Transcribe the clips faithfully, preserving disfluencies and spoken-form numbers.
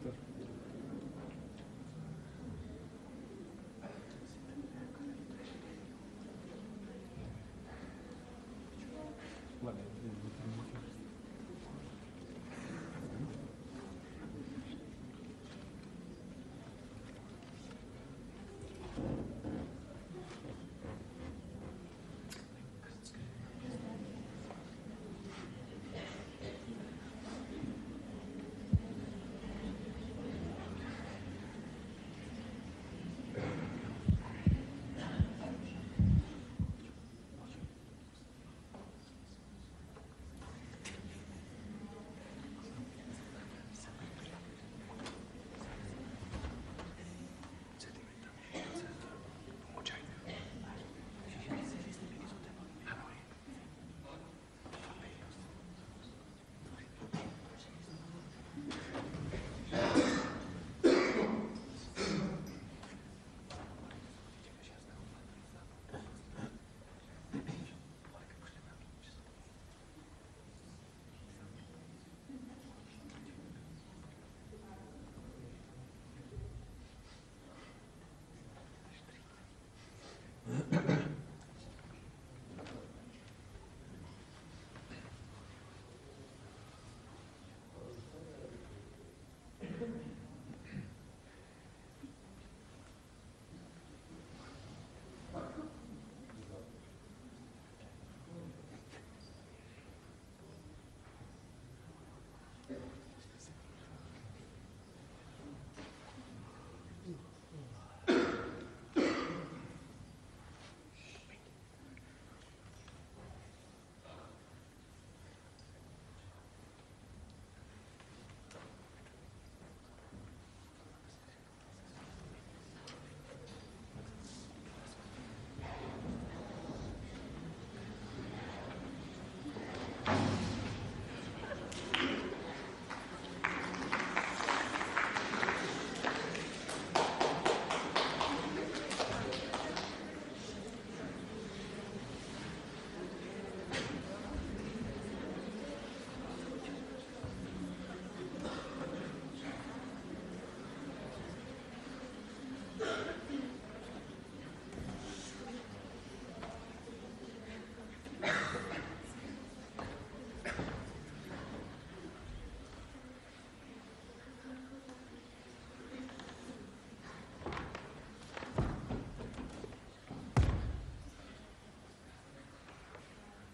инвеститор.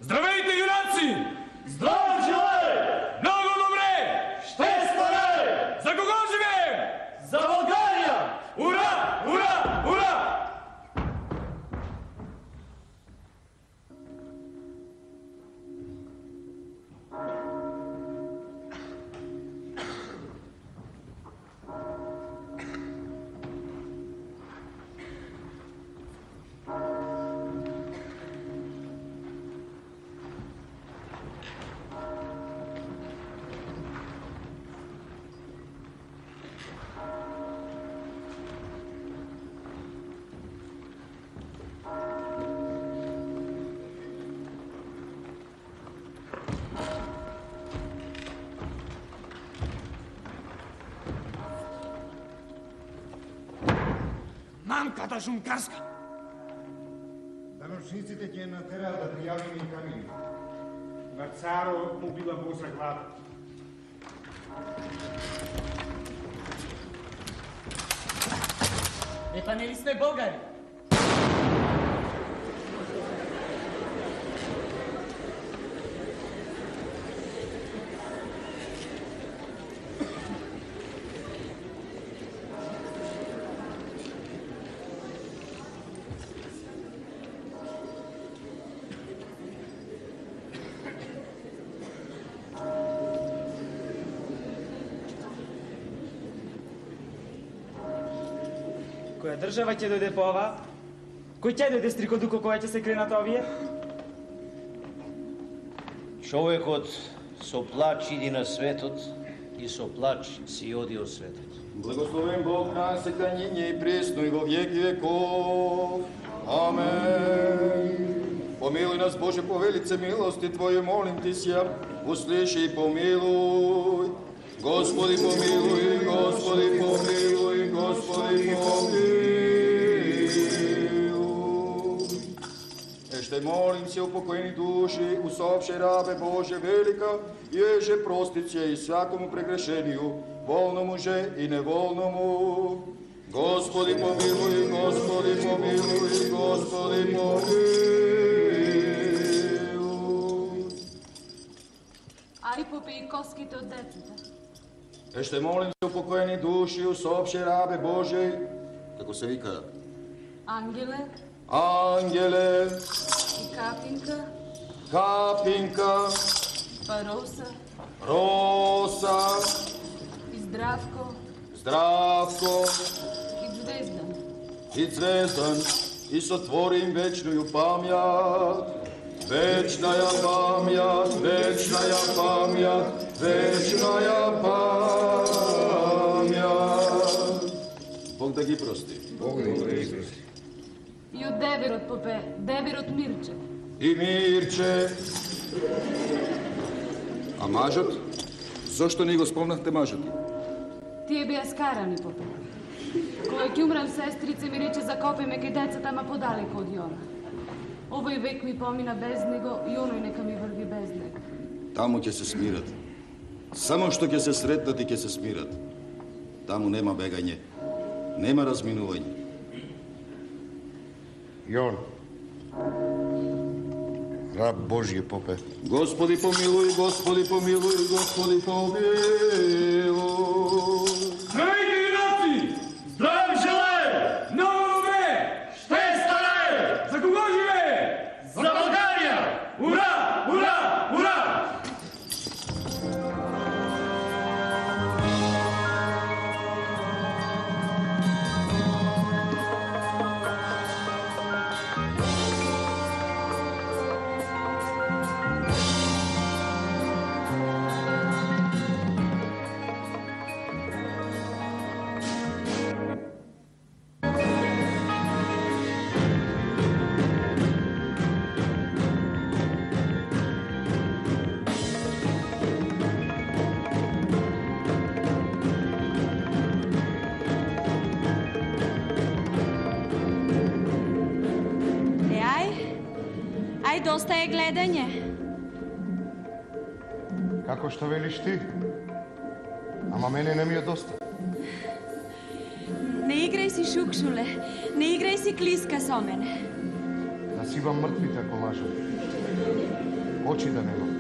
Здравейте, юнаци! Здрав желај! Много добре! Ще според! За кого живеем? За Българија! Ура! Ура! Ура! Мамката Жункарска. Даношниците ќе натераат да пријавиме и камини. На царо му била боса глава. Епа нели сме българи? Која држава ќе дојде по ова? Кој ќе дојде стрикодуко која ќе се кренат овие? Човекот со плач иди на светот и со плач си оди од светот. Благословен Бог на секањење и пресно и во веки веков. Амен. Помилуј нас, Боже, по велице милости Твоје, молим Ти сја, услиши и помилуј. Господи помилуй, Господи помилуй, Господи помилуй. Еште молим се упокоени души, усопше рабе Боже велика, еже простице и всякому прегрешению, волному же и неволному. Господи помилуй, Господи помилуй, Господи помилуй. Ари попеи коските од децата. Еште молим се упокоени души, усопше рабе Божеј, како се вика? Ангеле Ангеле, и Капинка, Капинка, па Роса Роса, и Здравко Здравко и Звездан. и Звездан, и сотвори им вечную памјат. Вечная памјат, вечная памјат, вечная памјат. Бог да ги прости. Бог да ги прости. И од деверот попе, деверот Мирче. И Мирче. А мажот? Зошто не го спомнахте мажот? Тие беа скарани попе. Кога ќе умрам, сестрице ми рече закопеме кај децата, ама подалеко од Јона. Овој век ми помина без него и оној нека ми врви без него. Таму ќе се смират. Само што ќе се сретнат и ќе се смират. Таму нема бегање, нема разминување. Јон, раб Божји попе. Господи помилуј, Господи помилуј, Господи помилуј. Здравейте, юнаци! Здрав желаем! Много добре! Ще стане! За кого живее? За България! Ура! Ура! Ура! Ај, доста е гледање. Како што велиш ти? Ама мене не ми е доста. Не играј си шукшуле, не играј си клиска со мене. Да сивам мртвите ако лажам. Очи да немам.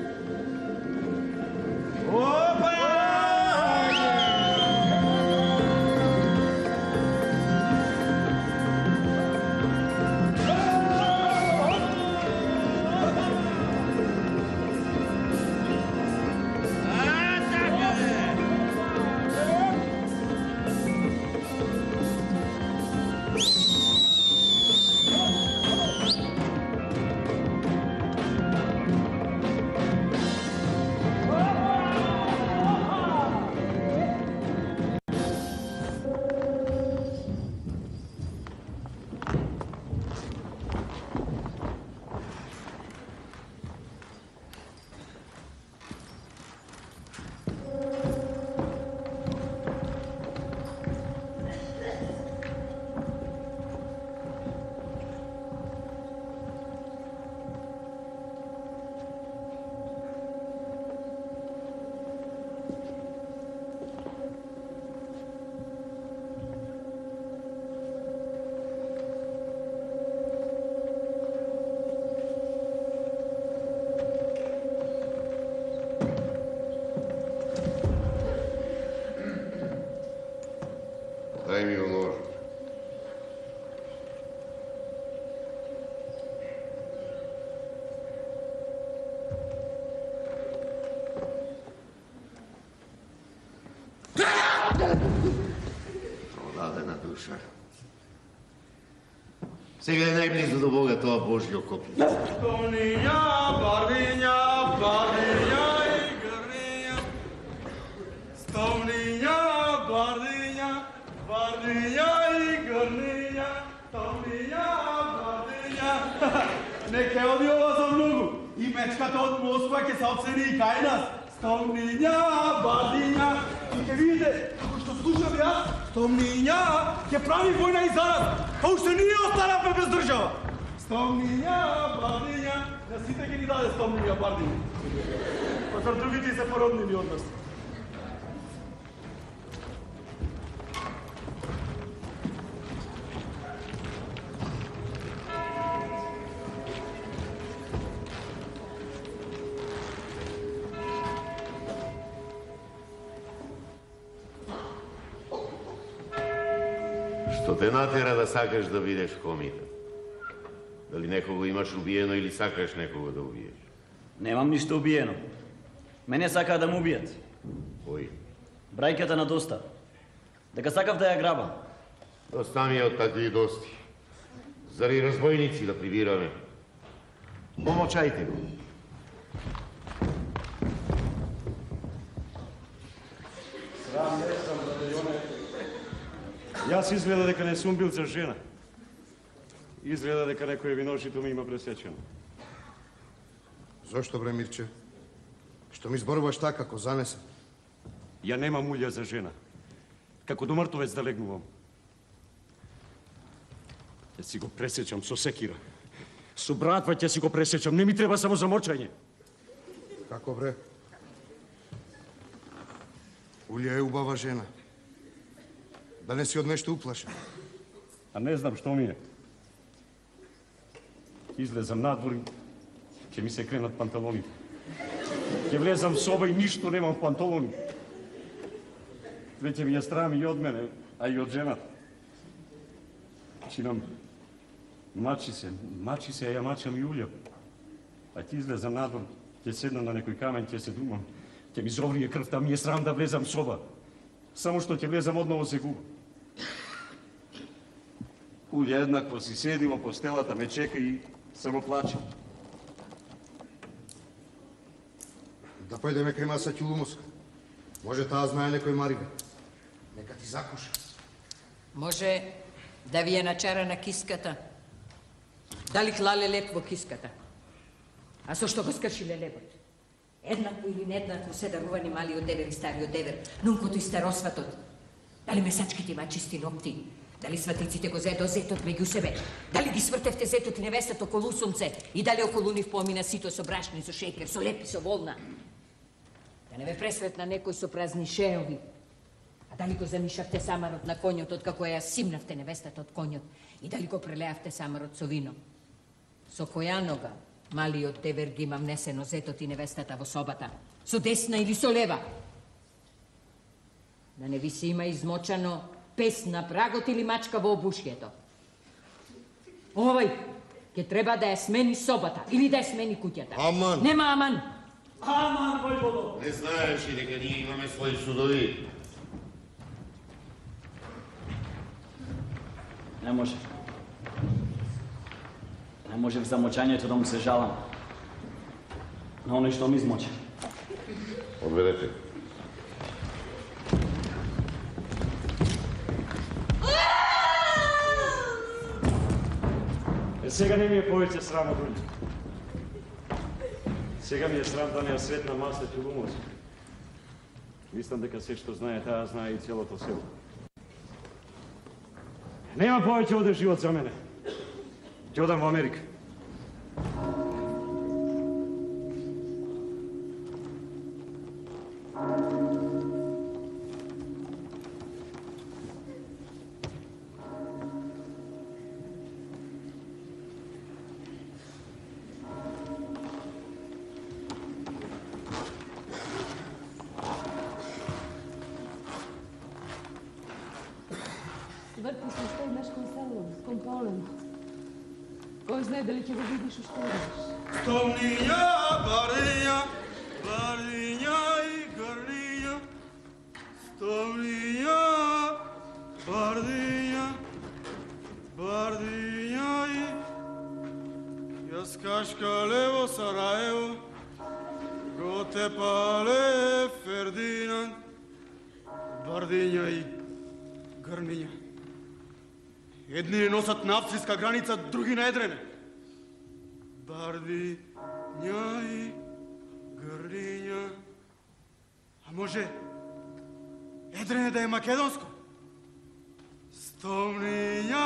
Дај ми онор. Продадена душа. Сега е најблизо до Бога тоа Божјо копје. Стомниња, бардиња, бардиња и грниња. Стомниња, бардиња, бардиња и грниња. Стомниња, бардиња. Нека оди ова за многу. И мечката од Москва ќе се обсени и кај нас. Стомниња, бардиња, И ќе видите, како што слушам јас, Стомниња ќе прави војна и зарад, а уште ние останавме без држава. Стомниња, Бардиња, на сите ќе ни даде Стомниња, Бардиња. Па зар другите се породнини од нас? Што те натера да сакаш да видиш комитет? Дали некого имаш убиено или сакаш некого да убиеш? Немам ништо убиено. Мене сакаа да му убијат. Кој? Брајката на Доста. Дека сакав да ја грабам. Доста ми е од такви дости. Зари разбойници да прибираме? Помолчајте го. Срам не сам, братајоне. Јас изгледа дека не сум бил за жена. Изгледа дека некој виношито ми има пресечено. Зошто, бре, Мирче? Што ми зборуваш така, како занесе? Ја немам улја за жена. Како до мртовец да легнувам. Ќе си го пресечам со секира. Со братва ќе си го пресечам. Не ми треба само замочање. Како, бре? Улја е убава жена. Да не си од нешто уплашен. А не знам што ми е. Излезам надвор и ќе ми се кренат панталоните. Ќе влезам в соба и ништо немам в панталони. Веќе ми ја страм и од мене, а и од жената. Чинам, мачи се, мачи се, а ја мачам и Улја. А ќе излезам надвор, ќе седнам на некој камен, ќе се думам, ќе ми зоврие крвта, ми е срам да влезам в соба. Само што ќе влезам одново се губам. Улја еднакво си седи во постелата, ме чека и само плаче. Да појдеме кај Маса Ќулумовска. Може таа знае некој Марибе. Нека ти закуша. Може да ви е начарана киската. Дали клале леп во киската? А со што го скршиле лебот? Еднакво или нееднакво се дарувани малиот девер и стариот девер, нункото и старосватот. Дали месачките има чисти ногти? Дали сватиците го зедо зетот меѓу себе? Дали ги свртевте зетот и невестата околу сунце? И дали околу нив помина сито со брашни, со шејкер, со лепи, со волна? Да не ве пресретна некој со празни шеови? А дали го замишавте самарот на коњот откако ја симнавте невестата од коњот? И дали го прелеавте самарот со вино? Со која нога малиот девер ги има внесено зетот и невестата во собата? Со десна или со лева? Да не ви се има измочано пес на прагот или мачка во обушјето? Овој ќе треба да ја смени собата или да ја смени куќата. Аман! Нема аман! Аман, војводо! Не знаеш ли дека ние имаме своји судови? Не може. Не може в замочањето да му се жалам. На оној што ми измоча. Одведете. Е, сега не ми е повеќе срам од Улја. Сега ми е срам да не ја сретна Маса Ќулумовска. Мислам дека се што знае таа, знае и целото село. Нема повеќе оде живот за мене. Ќе одам во Америка. Врти се уште еднаш кон село, кон полено. Кој знае дали ќе го видиш уште еднаш. Стомниња, Бардиња, Бардиња и Грниња. Стомниња, Бардиња, Бардиња и... Јас кашкале во Сараево, го те пале Фердинанд. Бардиња и Грниња. Едни не носат на австрийска граница, други на Едрене. Бардиња и Грниња. А може Едрене да е македонско. Стомниња,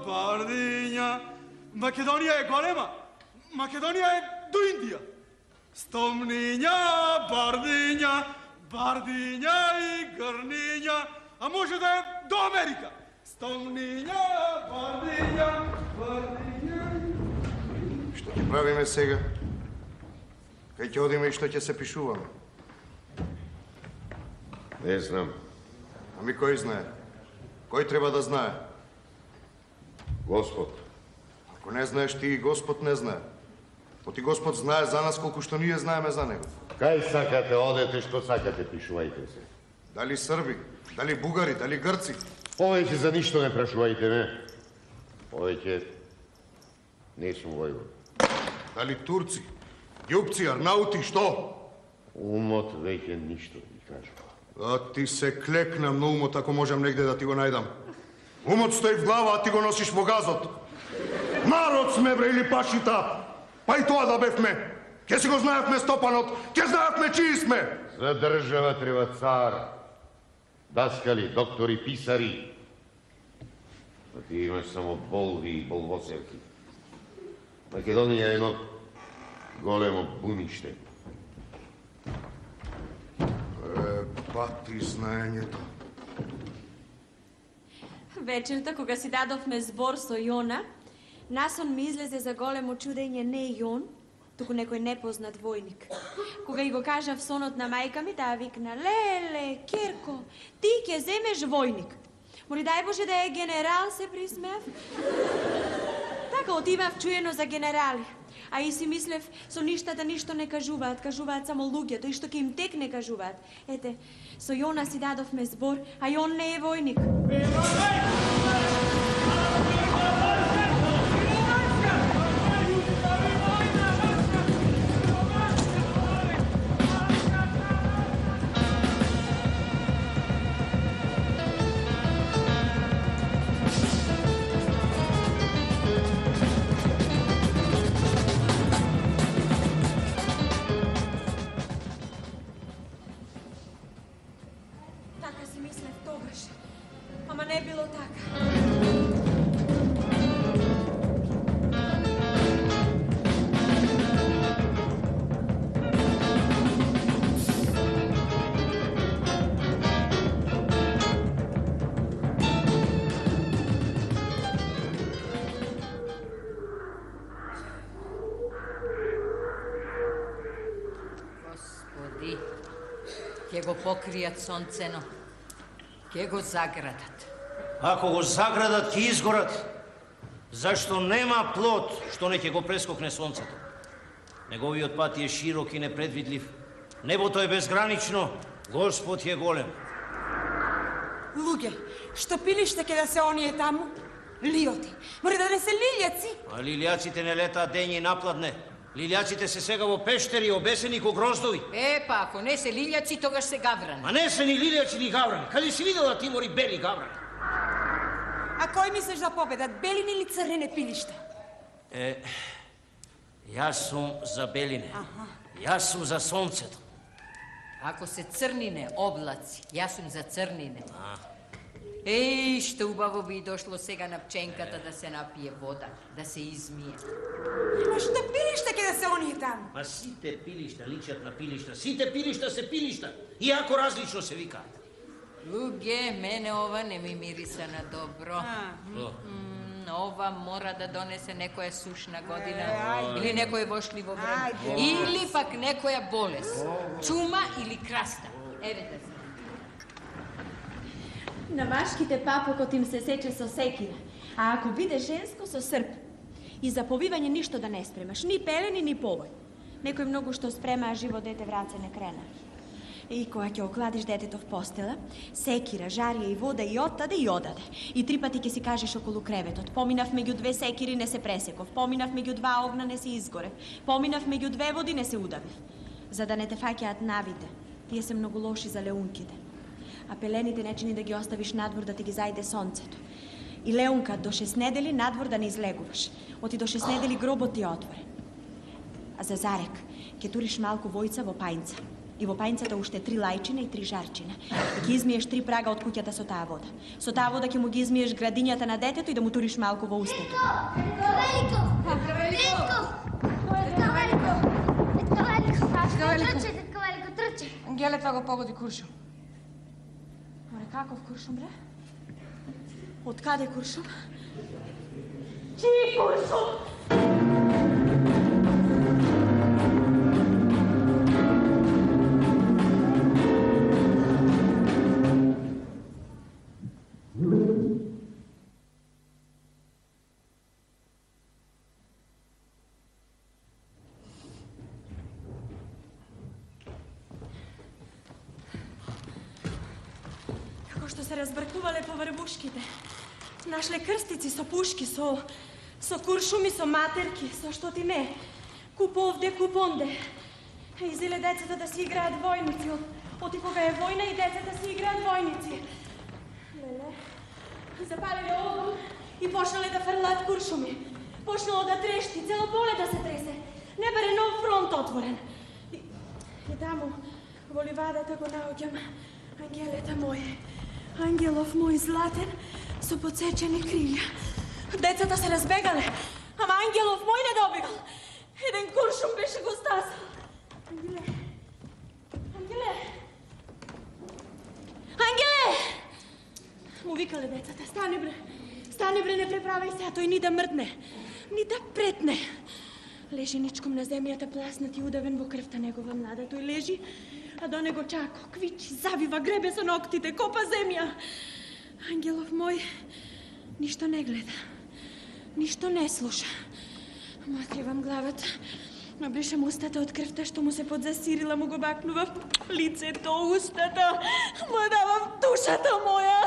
бардиња. Македонија е голема. Македонија е до Индија. Стомниња, бардиња, бардиња и грниња. А може да е до Америка. Стомниња, бардиња, бардиња. Што ќе правиме сега? Кај ќе одиме и што ќе се пишуваме? Не знам. Ами кој знае? Кој треба да знае? Господ. Ако не знаеш ти, и Господ не знае. Оти Господ знае за нас колку што ние знаеме за Него. Кај сакате, одете, што сакате, пишувајте се. Дали Срби, дали Бугари, дали Грци? Повеќе за ништо не прашувајте ме. Повеќе не сум војвод. Дали Турци, Јупци, Арнаути, што? Умот веќе ништо ми кажува. А ти се клекнам на умот ако можам негде да ти го најдам. Умот стои в глава, а ти го носиш во газот. Народ сме, бре, или пашита. Па и тоа да бевме. Ке си го знаевме Стопанот, ке знаевме чии сме. За држава треба цар, даскали, доктори, писари. А ти имаш само болви и болвоселки. Македонија е едно големо буниште. Е, пати знаењето. Вечерта, кога си дадовме збор со Јона, насон ми излезе за големо чудење не Јон, туку некој непознат војник. Кога и го кажав сонот на мајка ми, таа викна: "Леле, Керко, ти ќе земеш војник." Моли дај Боже да е генерал, се присмеав. Така отивав чуено за генерали. А и си мислев, со ништата ништо не кажуваат, кажуваат само луѓето и што ќе им текне кажуваат. Ете, со Јона си дадовме збор, а Јон не е војник. Ама не било така. Господи, ќе го покријат сонцено, ќе го заградат. Ако го заградат, ќе изгорат. Зашто нема плод што не ќе го прескокне сонцето. Неговиот пат е широк и непредвидлив. Небото е безгранично, Господ е голем. Луѓе, што пилиште ке да се оние таму? Лиоти. Мори да не се лилјаци. А лилјаците не летаат дење и напладне. Лилјаците се сега во пештери, обесени ко гроздови. Е, па, ако не се лилјаци, тогаш се гаврани. А не се ни лилјаци ни гаврани. Каде си видела ти, Мори, бели гаврани? А кој мислиш да победат, белини или црнене пилишта? Е, јас сум за белине. Аха. Јас сум за сонцето. Ако се црнине облаци, јас сум за црнине. А. Еј, што убаво би дошло сега на пченката да се напие вода, да се измие. Ама што пилишта ке да се оние таму? Ма сите пилишта личат на пилишта, сите пилишта се пилишта, иако различно се викаат. Луѓе, мене ова не ми мириса на добро. М, ова мора да донесе некоја сушна година, или некој вошливо време, или пак некоја болест, чума или краста. Еве да се. На машките папокот им се сече со секира, а ако биде женско со срп. И за повивање ништо да не спремаш, ни пелени, ни повој. Некој многу што спрема, а живо дете враце не крена. И кога ќе окладиш детето в постела, секира, жарија и вода и оттаде и одаде. И три пати ќе си кажеш околу креветот: поминав меѓу две секири, не се пресеков, поминав меѓу два огна, не се изгорев, поминав меѓу две води, не се удавив. За да не те фаќаат навите, тие се многу лоши за леунките. А пелените не чини да ги оставиш надвор да ти ги зајде сонцето. И леунка до шест недели надвор да не излегуваш. Оти до шест недели гробот ти е отворен. А за зарек, ќе туриш малку војца во пајнца. И во пајнцата уште три лајчина и три жарчина. И ќе измиеш три прага од куќата со таа вода. Со таа вода ќе му ги измиеш градињата на детето и да му туриш малку во устето. Велико! Велико! Детка Велико! Детка Велико! Трче, детка Велико, трче! Ангеле, това го погоди куршум. Море, каков куршум, бре? Од каде куршум? Чиј куршум? Што се разбркувале по врвушките. Нашле крстици со пушки, со со куршуми, со матерки, со што ти не. Куп овде, куп онде. Изеле децата да си играат војници. Оти кога е војна и децата си играат војници. Леле, запалиле огон и почнале да фрлаат куршуми. Почнало да трешти, цело поле да се тресе. Не баре нов фронт отворен. И, и таму, во ливадата го наоѓам ангелета моје. Ангелов мој златен, со подсечени крилја. Децата се разбегале, ама ангелов мој не добигал. Еден куршум беше го стасал. Ангеле! Ангеле! Ангеле! Му викале децата, стани бре, стани бре, не преправај се, а тој ни да мртне, ни да претне. Лежи ничком на земјата, пласнат и удавен во крвта негова млада. Тој лежи, а до него чако, квичи, завива, гребе со ноктите, копа земја. Ангелов мој ништо не гледа, ништо не слуша. Му откривам главата, набришам устата од крвта што му се подзасирила, му го бакнував лицето, устата, му давам душата моја.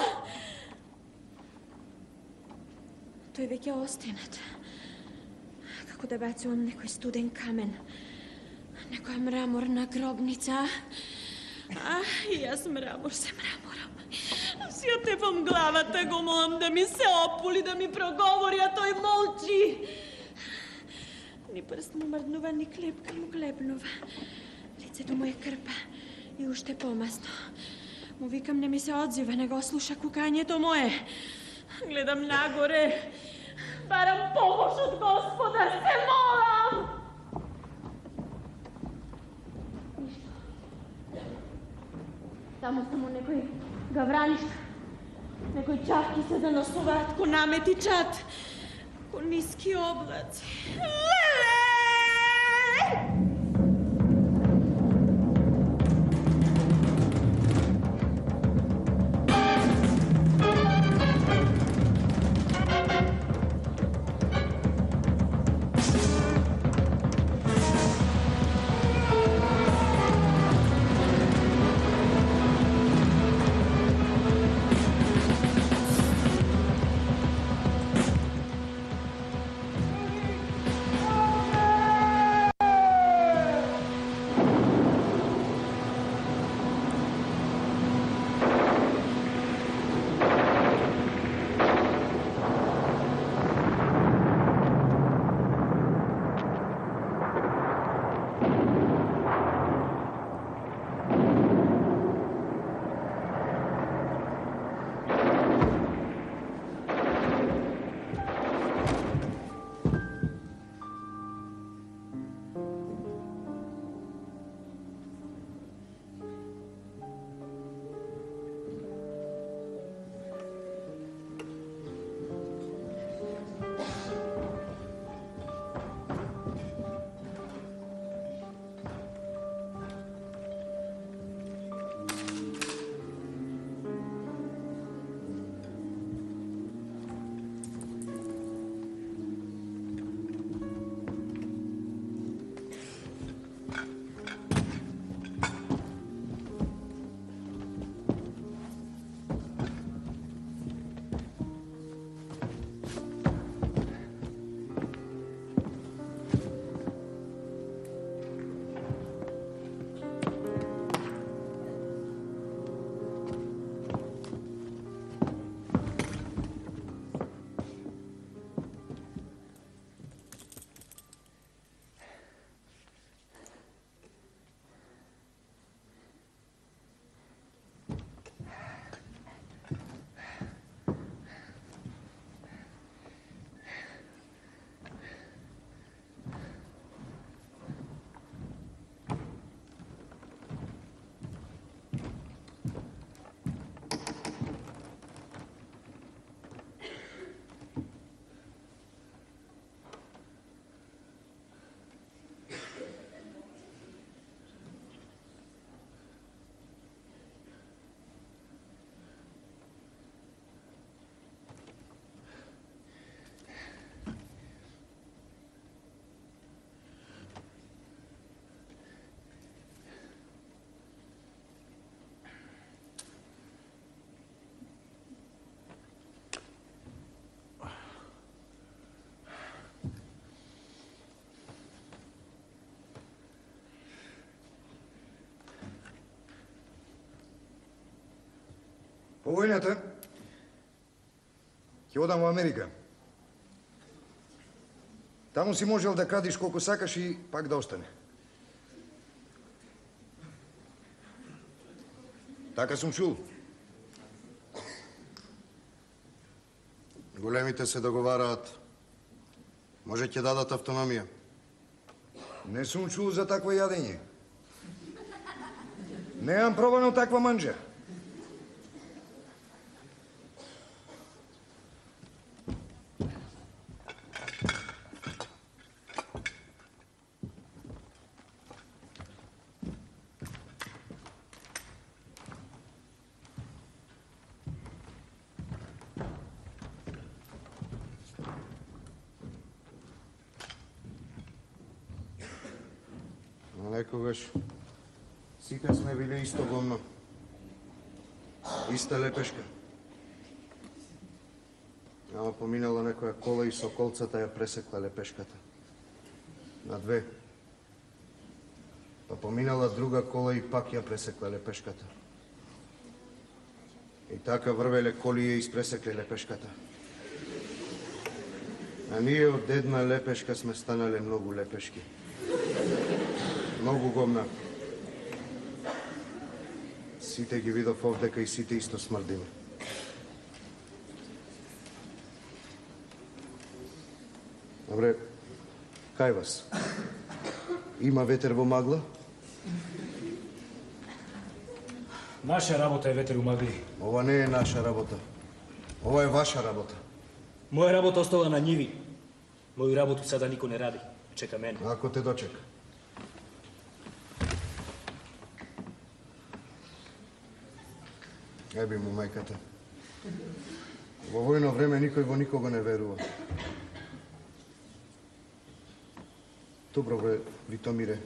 Тој веќе остенат. Како да бацувам некој студен камен, некоја мраморна гробница. А, и јас мрамор се мраморам. Си отепам главата, го молам да ми се опули, да ми проговори, а тој молчи. Ни прст му мрднува, ни клепка му клепнува. Лицето му е крпа и уште помасно. Му викам, не ми се одзива, не го слуша кукањето мое. Гледам нагоре, барам помош од Господа, се молам! Ништо. Тамо само некој гавранишка, некој чавки се заносуваат ко намети чат, ко ниски облаци. Леле! Oh! По војната ќе одам во Америка. Таму си можел да крадиш колку сакаш и пак да остане. Така сум чул. Големите се договараат. Може ќе дадат автономија. Не сум чул за такво јадење. Неам пробано таква манџа. Некогаш сите сме биле исто гомно. Иста лепешка. Ама поминала некоја кола и со колцата ја пресекла лепешката. На две. Па поминала друга кола и пак ја пресекла лепешката. И така врвеле коли ја испресекле лепешката. А ние од една лепешка сме станале многу лепешки. Многу гомна. Сите ги видов овдека и сите исто смрдиме. Добре, кај вас? Има ветер во магла? Наша работа е ветер у магли. Ова не е наша работа. Ова е ваша работа. Моја работа остала на ниви. Моју работу сада никој не ради. Чека мене. Ако те дочека. Еби му мајката. Во војно време никој во никого не верува. Добро бре, Витомире,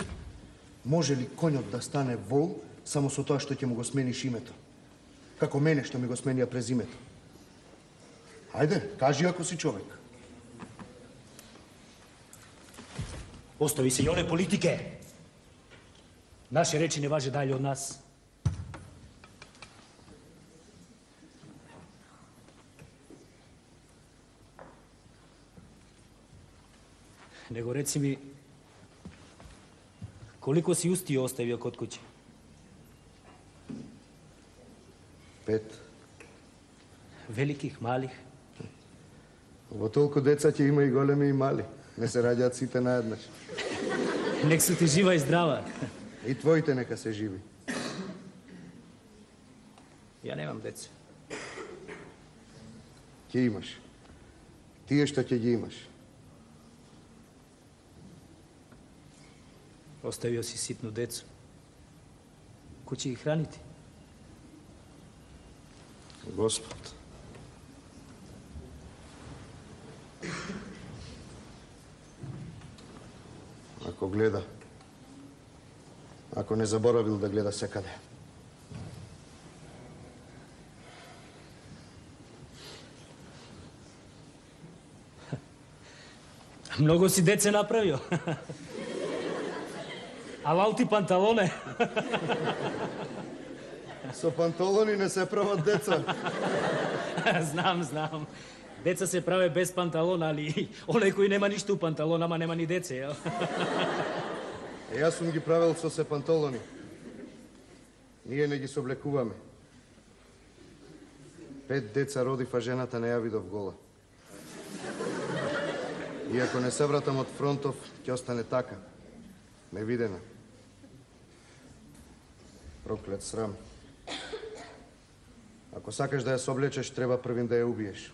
може ли коњот да стане вол само со тоа што ќе му го смениш името? Како мене што ми го сменија презимето. Ајде, кажи ако си човек. Остави се и оне политике. Наши речи не важе дали од нас. Него реци ми, колико си усти оставија код куќе? Пет. Великих, малих? Во толку деца ќе има и големи и мали. Не се раѓаат сите наеднаш. Нек су ти жива и здрава. И твоите нека се живи. Ја немам деца. Ќе имаш. Тие што ќе ги имаш. Оставио си ситно децо. Кој ќе ги храните? Господ. Ако гледа, ако не заборавил да гледа секаде. Многу си деце направио. А лалти панталоне. Со панталони не се прават деца. Знам, знам. Деца се праве без панталон, али оној кој нема ништо у панталон, ама нема ни деце, јел? Е, јас сум ги правил со се панталони. Ние не ги соблекуваме. Пет деца родив, а жената не ја видов гола. И ако не се вратам од фронтов, ќе остане така. Невидена. Проклет срам. Ако сакаш да ја соблечеш, треба првин да ја убиеш.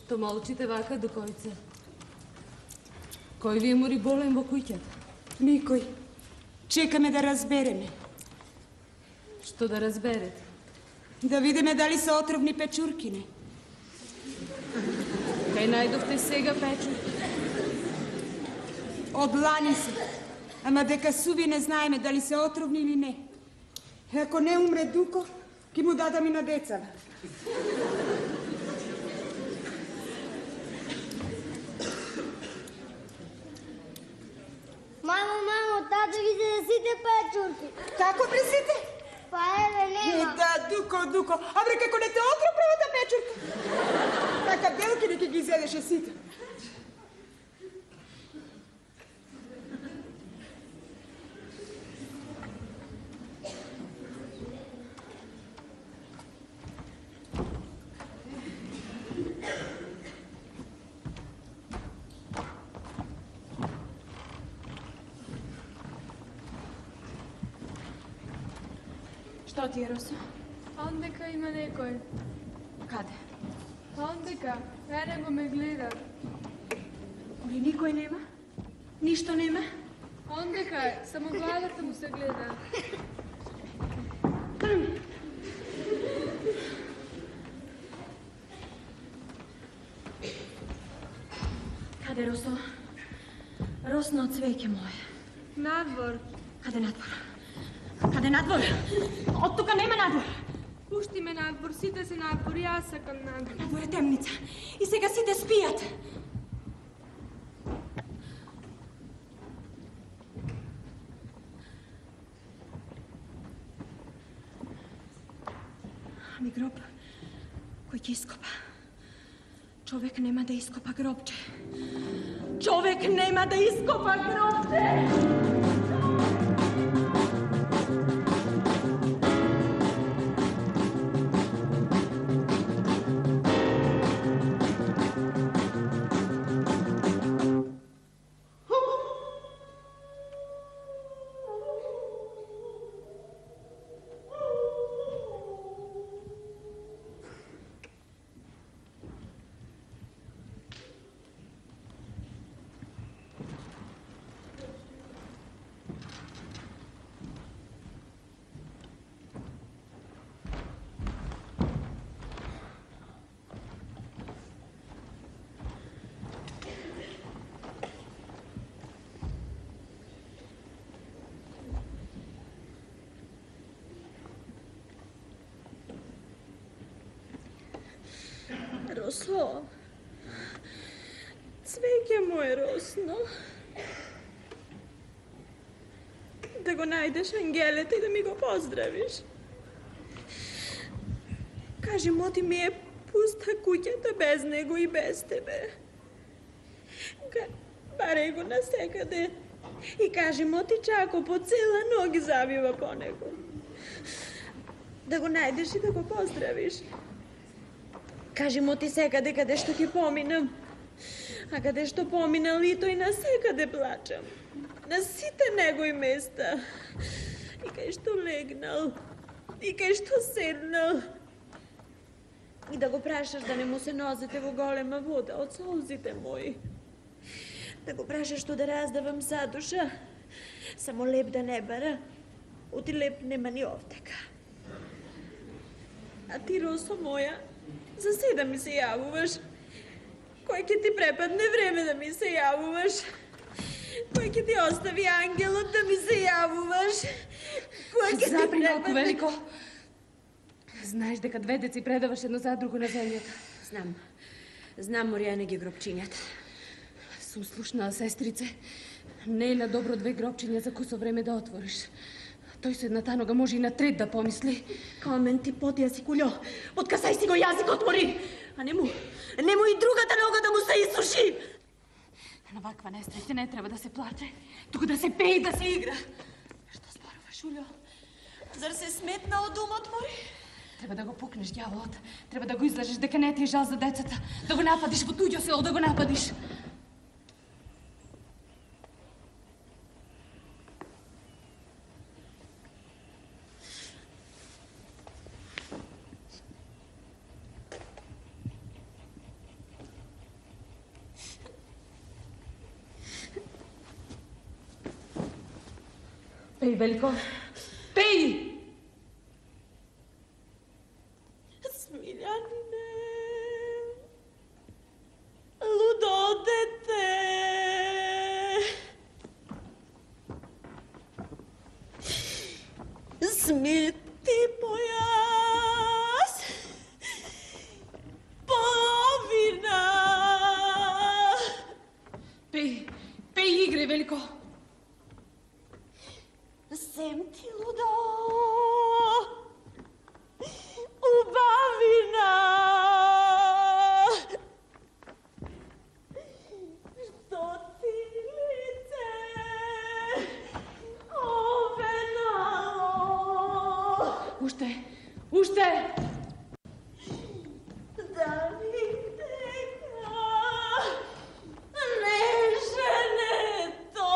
Што молчите вака, докојце? Кој ви е мори болен во куќата? Никој. Чекаме да разбереме. Што да разберете? Да видиме дали се отровни печуркини. Кај најдовте сега печурки? Од лани се. Ама дека суви не знаеме дали се отровни или не. Ако не умре Дуко, ќе му дадам и на децава. Мамо, мамо, тато ги се сите печурки. Како при сите? Па еве, нема. Е, да, Дуко, Дуко. Абре, како не те отров правата печурка. Така белки не ќе ги изедеше сите. Што ти е, Росо? Ондека има некој. Каде? Ондека, мене го ме гледа. Или никој нема? Ништо нема? Ондека е, само главата му се гледа. Каде, Росо? Росно од цвеќе мое. Надвор. Каде надвор? Каде надвор? Од тука нема надвор. Пушти ме надвор, сите се надвор, јас сакам надвор. Надвор е темница. И сега сите спијат. Ами гроб, кој ќе ископа? Човек нема да ископа гробче. Човек нема да ископа гробче! Росо, цвеќе му е росно. Да го најдеш ангелете и да ми го поздравиш. Кажи му ти ми е пуста куќата без него и без тебе. Баре го насекаде и кажи му ти чако по цела ноги завива по него. Да го најдеш и да го поздравиш. Кажи му ти секаде каде што ќе поминам. А каде што поминал и тој на секаде плачам. На сите негои места. И кај што легнал. И кај што седнал. И да го прашаш да не му се нозете во голема вода од солзите мои. Да го прашаш што да раздавам задуша. Само леп да не бара. Оти леп нема ни овдека. А ти, Росо моја, за се да ми се јавуваш. Кој ќе ти препадне време да ми се јавуваш? Кој ќе ти остави ангелот да ми се јавуваш? Кој ќе ти Запри малку, препадне... Велико. Знаеш дека две деци предаваш едно за друго на земјата. Знам. Знам, Моријане ги гробчињата. Сум слушнала, сестрице. Не е на добро две гробчиња за кусо време да отвориш. Тој со едната нога може и на трет да помисли. Камен ти подија си кулјо. Откасај си го јазик, отвори. А нему, нему и другата нога да му се исуши. На ваква несреќа не треба да се плаче, туку да се пее и да се игра. Што зборуваш, Улјо? Зар се сметна од умот мори? Треба да го пукнеш ѓаволот. Треба да го излажеш дека не ти е жал за децата. Да го нападиш во туѓо село, да го нападиш. Пеј, Велико. Пеј! Смилјанине, лудо дете. Смити појас, половина. Пеј, пеј игре, Велико. Сем ти лудо, убавина. Што ти лице, овенало. Уште, уште. Дали дека не женето.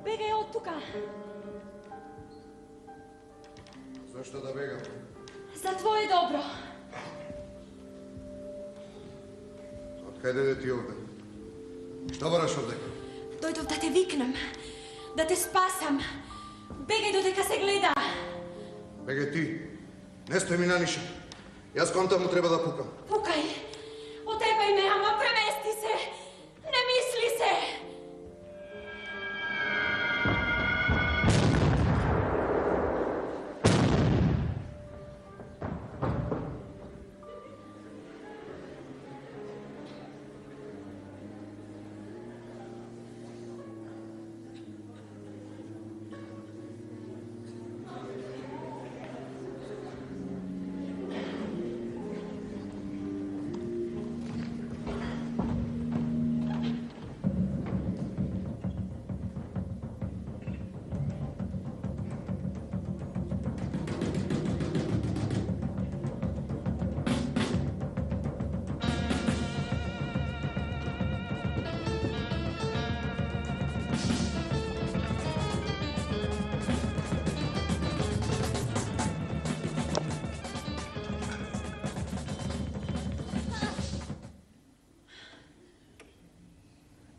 Бегај од тука. Зашто да бегам? За твое добро. Откаде де ти овде? Што бараш овде? Дојдов да те викнам, да те спасам. Бегај додека се гледа. Бегај ти. Не стој ми на ниша. Јас контам му треба да пукам. Пукај. Отепај ме, ама премести се. Не мисли се.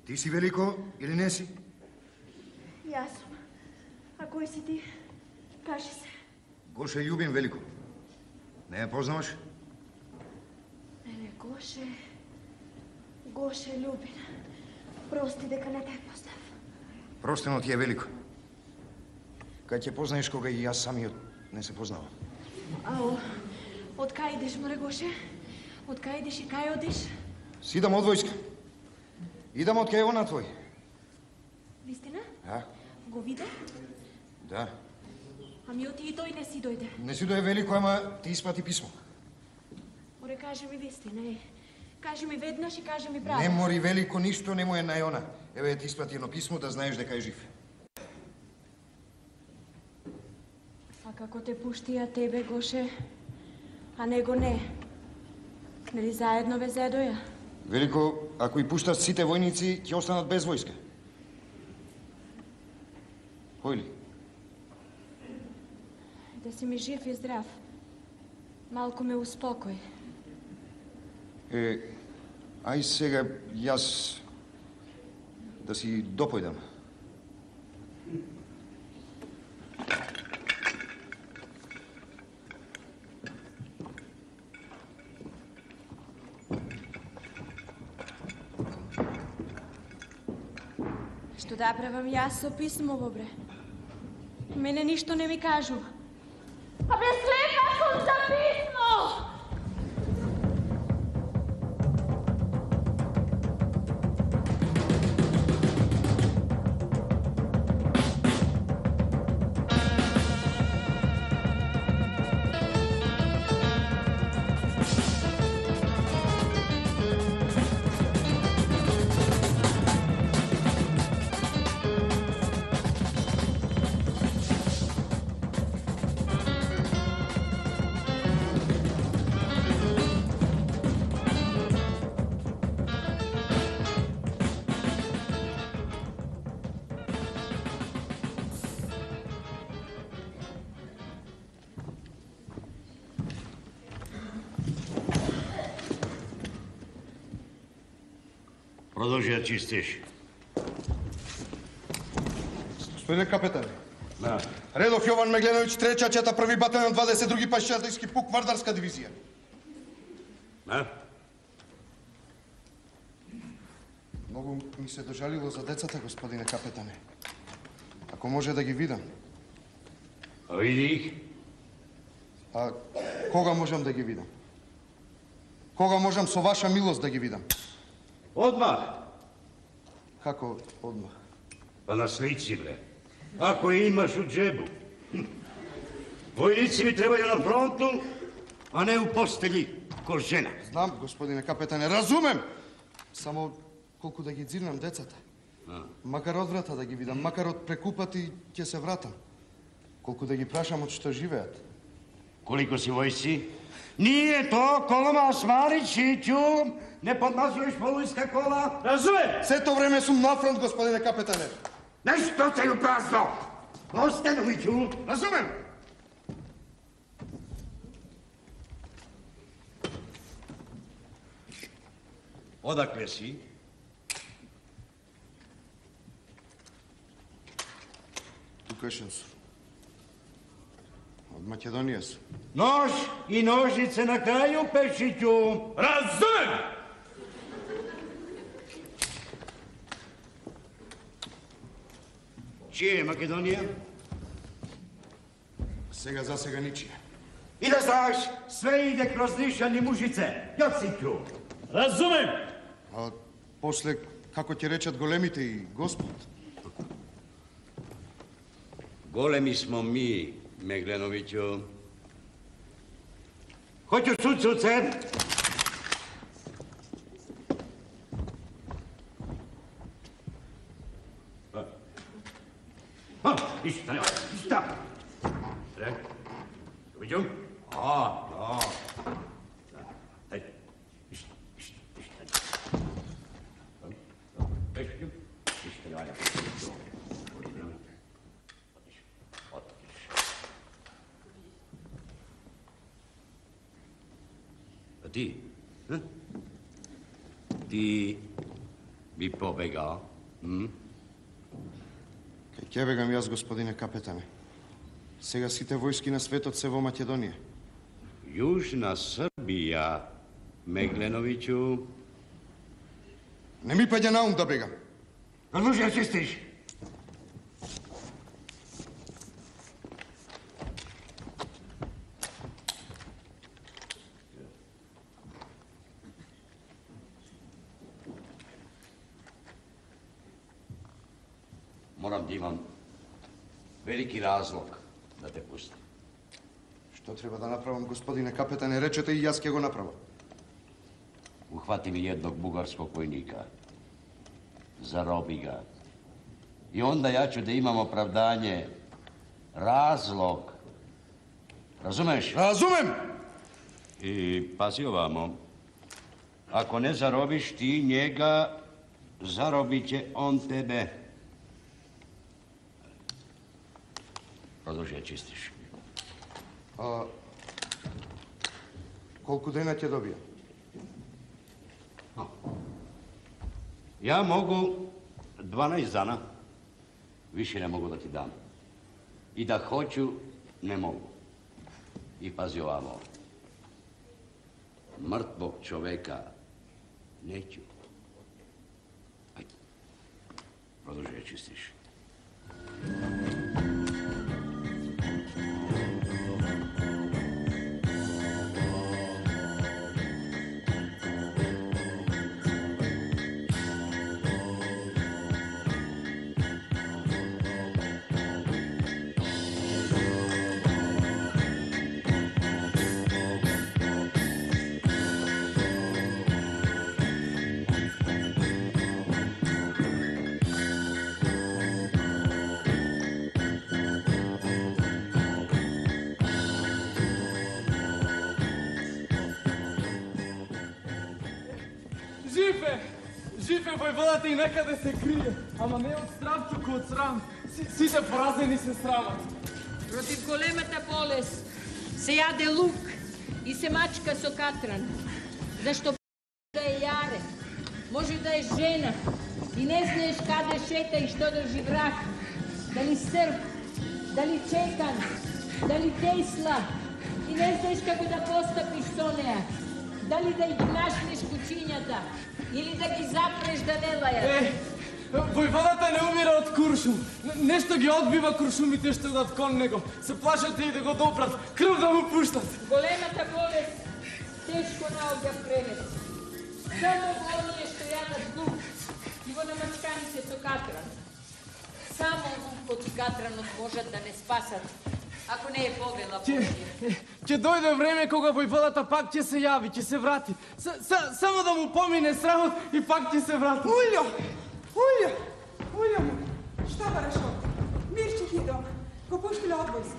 Ти си Велико или не си? Јас сум. А кој си ти? Кажи се. Гоше љубим Велико. Не ја познаваш? Еле, Гоше... Гоше љубин. Прости дека не те познав. Простено ти е Велико. Кај ќе познаеш кога и јас самиот не се познавам. Ау, од кај идеш, море Гоше? Од кај идеш и кај одиш? Сидам од војска. Идам од кај она твој. Вистина? Да, Го виде? да. Ами оти и тој не си дојде. Не си дое Велико, ама ти испрати писмо. Море, кажи ми вистина, е. Кажи ми веднаш и кажи ми право. Не мори Велико, ништо не му е на она. Еве ти испрати едно писмо да знаеш дека е жив. А како те пуштија тебе, Гоше, а него не? Нели заедно ве зедоја? Велико, ако и пуштат сите војници, ќе останат без војска. Кој ли? Да си ми жив и здрав. Малку ме успокој. Е, ај сега јас да си допојдам. Што да правам јас со писмово, бре? Мене ништо не ми кажу. А бе, слепа сум за писмо! Продолжи да чистиш. Господине капетане. Да. Редов Јован Мегленовиќ, трета чета, први батальон, двадесет други пешачарски пук, Вардарска дивизија. Да? Многу ми се дожалило за децата, господине капетане. Ако може да ги видам. А види их? А кога можам да ги видам? Кога можам со ваша милост да ги видам? Одмах. Како одмах? Па на слици, бре. Ако имаш у джебу. Војници би требају на фронту, а не у постели ко жена. Знам, господине капетане, разумем! Само колку да ги дзирнам децата. А. Макар од врата да ги видам, макар од прекупати ќе се вратам. Колку да ги прашам од што живеат. Колико си војци? Nije to koloma Smarićiću, ne podmazuješ polujska kola. Razumem! Sve to vreme sum na front, gospodine kapetane. Nešto se ju prazno! Ostanoviću! Razumem! Odakle si? Tukešen su. Od Makedonije su. Nož i nožice na kraju, Pešiću! Razumem! Čije je Makedonija? Сега за сега ничија. I da znaš, sve ide kroz Nišan i Mužice. Jociću! Razumem! А после, како ќе речат големите и Господ? Golemi smo mi, Meglenoviću. Hoću cucuce? Ha, ništa nema, ništa. Sve? Vidim? A, da. Hajde, ništa, ništa, ništa. Vidim? Ništa ne valja. A ti? Hm? Ti bi pobegao? Hm? Кај ќе бегам јас, господине капетане. Сега сите војски на светот се во Македонија. Južna Srbija, Meglenoviću. Не ми паѓа на ум да бегам. Разлужи да чистиш. Moram da imam veliki razlog da te pustim. Што треба да направам, господине капетане? Речете и јас ќе го направам. Uhvati mi jednog bugarskog vojnika. Zarobi ga. I onda ja ću da imam opravdanje, razlog. Razumeš? Razumem! I pazi ovamo. Ako ne zarobiš ti njega, zarobit će on tebe. Продолжи да чистиш. А колку дена ќе добијам? Ja mogu dvanaest dana, više ne mogu da ti dam. I da hoću, ne mogu. I pazi ovamo. Mrtvog čoveka neću. Ajde. Продолжи da čistiš. Жив е војводата и некаде се крие, ама не од страв, туку од срам. Сите поразени се срамат. Против големата болест се јаде лук и се мачка со катран. Зашто да е јарен, може да е жена и не знаеш каде шета и што држи в рак, дали Срп, дали Чекан, дали Тесла, и не знаеш како да постапиш со неа, дали да ги нашнеш кучињата или да ги запреш да не лајат. Е, војводата не умира од куршум. Нешто ги одбива куршумите што идат кон него. Се плашат и да го допрат, крв да му пуштат. Големата болест тешко наоѓа превес. Само во оние што јадат лук и во намачканите со катран. Само лукот и катранот можат да не спасат, ако не е повела Божија. Ќе дојде време кога војводата пак ќе се јави, ќе се врати. Само да му помине срамот и пак ќе се врати. Улјо! Улјо! Улјо му! Šta бараш овде? Мирче ти дома. Го пуштиле од војска.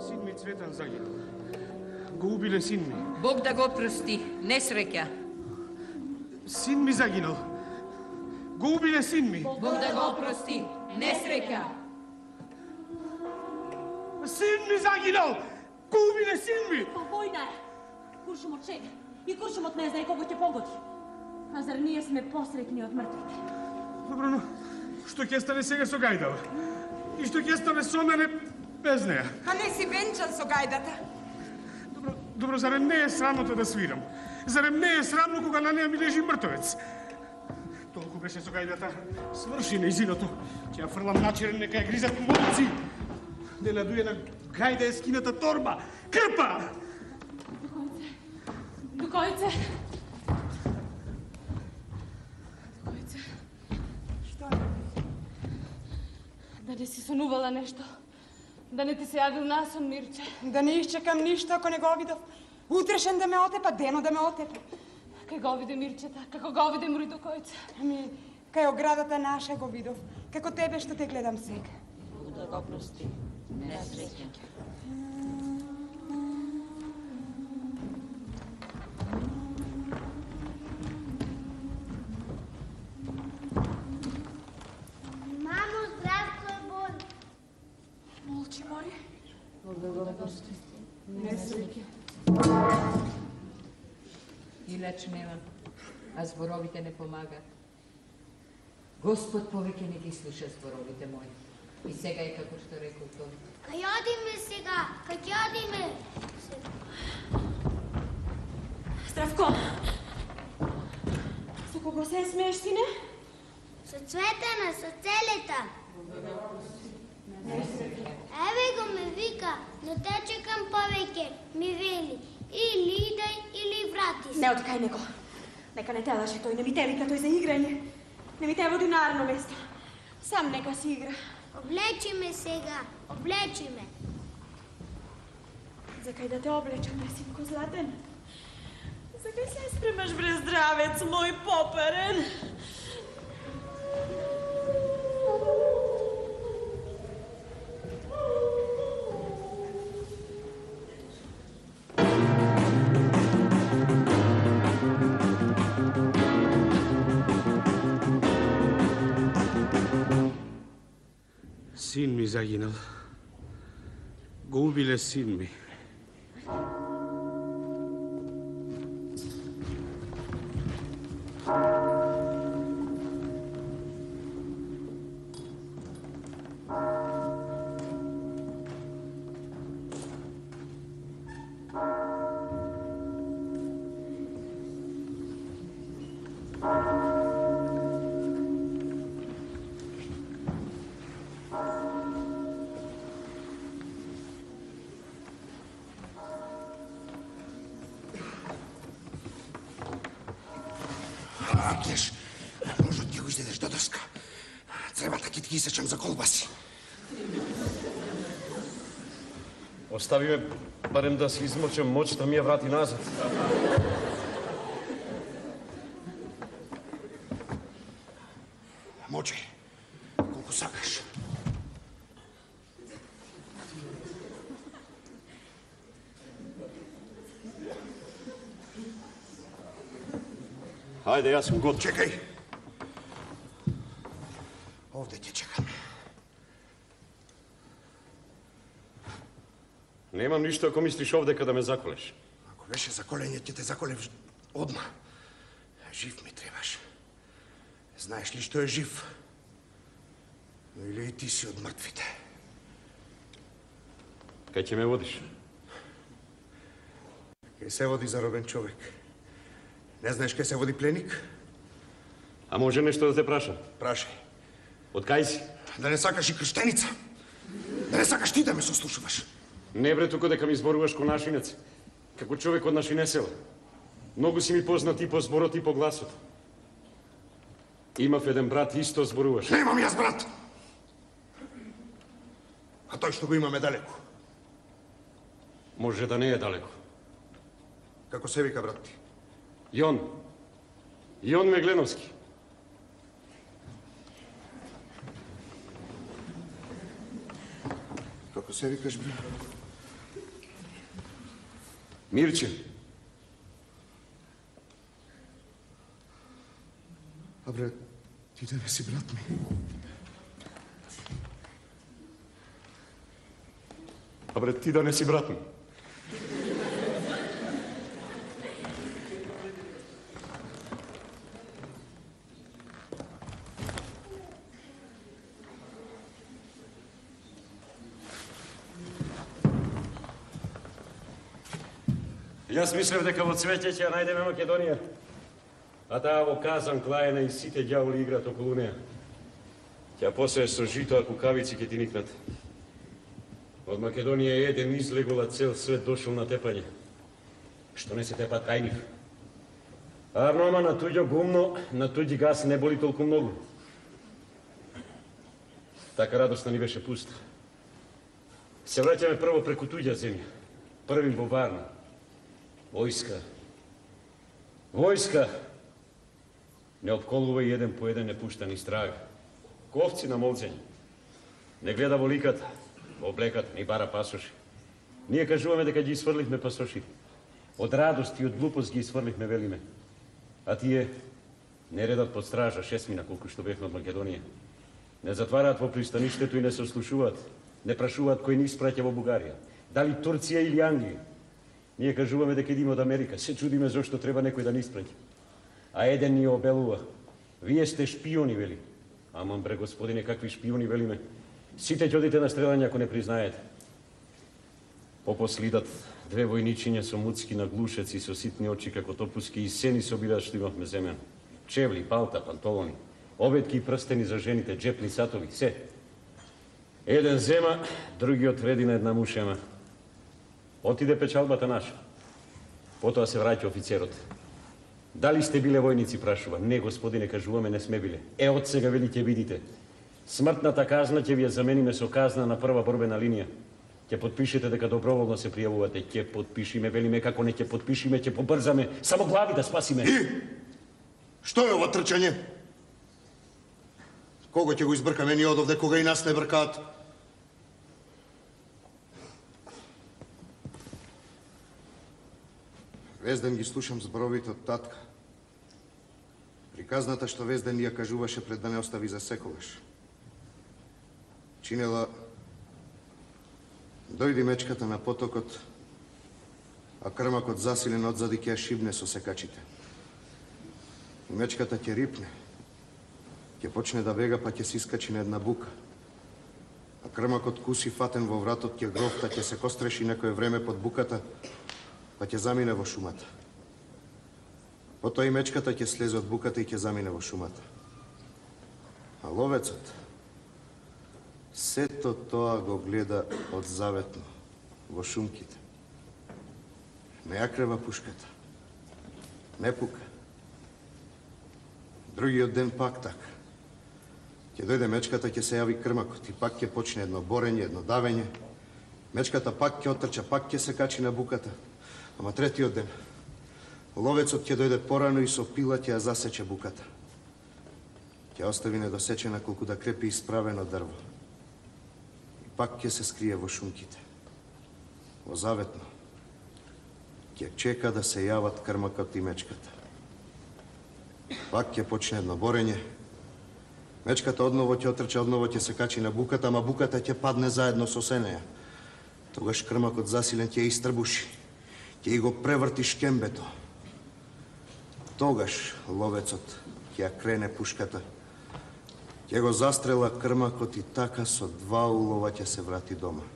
Син ми Цветан загинал. Го убиле син ми. Бог да го прости, несреќа. Син ми загинал. Го убиле син ми. Бог да го прости, несреќа. Син ми загинал. Го убиле син ми. Па војна е. Куршумот шега. И куршумот не знае кого ќе погоди. А зар ние сме посреќни од мртвите? Добро, но што ќе стане сега со Гајдава? И што ќе стане со мене без неа? А не си венчан со гајдата? Добро, добро, зарем не е срамота да свирам? Зарем не е срамно кога на неа ми лежи мртовец? Толку беше со Гајдата. Сврши нејзиното. Ќе ја фрлам начерен, нека ја гризат молци. Не надуе на Гајда е скината торба. Крпа! Дукојце! Дукојце! Што? Да не си сонувала нешто. Да не ти се јавил насон, Мирче. Да не исчекам ништо ако не го видов. Утрешен да ме отепа, дено да ме отепа. Кај го виде Мирчета, како го виде Мори Дукојце. Ами, кај оградата наша го видов. Како тебе што те гледам сега. Бог да го прости, несреќа. Мамо, здравко е Бон. Молчи, Мори. Бог да го прости, несреќа. И леч нема, а зборовите не помагаат. Господ повеќе не ги слуша зборовите мои. И сега е како што рекол тој. Кај одиме сега? Кај ќе одиме? Здравко! Со кого се смееш, сине? Со Цветана, со целета. Еве го ме вика, но те чекам повеќе. Ми вели, или идај, или врати се. Не откај него. Нека не те лаже тој, не ми те вика тој за играње. Не ми те води на арно место. Сам нека си игра. Облечи ме сега, облечи ме. Закај да те облечам, синко златен? Закај се спремаш, бре, здравец, мој поперен? Син ми загинал. Го убиле син ми. Ангеш, ножот ќе го издедеш до доска. Цревата ќе ти ги исечам за колбаси. Остави ме барем да си измочам моч да ми ја врати назад. Може, колку сакаш. Ајде, јас сум готов. Чекај. Овде ќе чекам. Немам ништо ако мислиш овде када ме заколеш. Ако беше заколење, ќе те заколев одма. Жив ми требаш. Знаеш ли што е жив? Или и ти си од мртвите? Кај ќе ме водиш? Кај се води заробен човек. Не знаеш кај се води пленик? А може нешто да те прашам? Прашај. Од кај си? Да не сакаш и крштеница? Да не сакаш ти да ме сослушуваш? Не бре, тука дека ми зборуваш ко нашинец. Како човек од нашинесела. Многу си ми познат и по зборот и по гласот. Имав еден брат, исто зборуваш. Немам јас брат! А тој што го имаме далеку? Може да не е далеко. Како се вика брат ти? Јон. Јон Мегленовски. Како се викаш, бе? Мирче. А бре, ти да не си брат ми? А бре, ти да не си брат ми? Јас мислев дека во цвеќе ќе ја најдеме Македонија. А таа во Казан, Клаена и сите ѓаволи играат околу неа. Ќе посее со жито, а кукавици ќе ти никнат. Од Македонија еден излегола цел свет дошол на тепање. Што не се тепат кај нив? Арнома на туѓо гумно, на туѓи газ не боли толку многу. Така радостна ни беше пуста. Се враќаме прво преку туѓа земја. Први во Варна. Војска. Војска. Не обколува и еден по еден не пушта ни страга. Ковци на молцење. Не гледа во ликата, во облеката, ни бара пасоши. Ние кажуваме дека ги сврлихме пасоши. Од радост и од глупост ги сврлихме, велиме. А тие не редат под стража шест мина колку што бевме од Македонија. Не затвараат во пристаништето и не се ослушуваат. Не прашуваат кој ни испраќа во Бугарија. Дали Турција или Англија. Ние кажуваме дека идеме од Америка. Се чудиме зошто треба некој да ни испраќа. А еден ни обелува. Вие сте шпиони, вели. Аман бре, господине, какви шпиони, велиме. Сите ќе одите на стрелање ако не признаете. Попослидат две војничиња со муцки на глушеци, со ситни очи како топуски и сени собираат што имавме земјан. Чевли, палта, пантолони, обетки и прстени за жените, джепни сатови, се. Еден зема, другиот реди на една мушема. Отиде печалбата наша. Потоа се враќа офицерот. Дали сте биле војници, прашува. Не, господине, кажуваме, не сме биле. Е, од сега вели ќе видите. Смртната казна ќе ви ја замениме со казна на прва борбена линија. Ќе подпишете дека доброволно се пријавувате. Ќе подпишиме, велиме, како не ќе подпишиме, ќе побрзаме. Само глави да спасиме. И? Што е ова трчање? Кого ќе го избркаме ние одовде, кога и нас не бркаат? Везден ги слушам зборовите од татка. Приказната што Везден ја кажуваше пред да не остави за секогаш. Чинела, дојди мечката на потокот, а крмакот засилен одзади ќе ја шибне со секачите. И мечката ќе рипне, ќе почне да бега, па ќе се искачи на една бука. А крмакот куси фатен во вратот ќе грофта, ќе се костреши некое време под буката, па ќе замине во шумата. Потоа и мечката ќе слезе од буката и ќе замине во шумата. А ловецот сето тоа го гледа одзаветно во шумките. Не ја крева пушката. Не пука. Другиот ден пак така. Ќе дојде мечката, ќе се јави крмакот и пак ќе почне едно борење, едно давење. Мечката пак ќе отрча, пак ќе се качи на буката. Ама третиот ден, ловецот ќе дојде порано и со пила ќе ја засече буката. Ќе остави недосечена колку да крепи исправено дрво. И пак ќе се скрие во шумките. Во заветно. Ќе чека да се јават крмакот и мечката. Пак ќе почне едно борење. Мечката одново ќе отрча, одново ќе се качи на буката, ама буката ќе падне заедно со сенеја. Тогаш крмакот засилен ќе ја истрбуши, ќе и го преврти шкембето. Тогаш ловецот ќе ја крене пушката, ќе го застрела крмакот и така со два улова ќе се врати дома.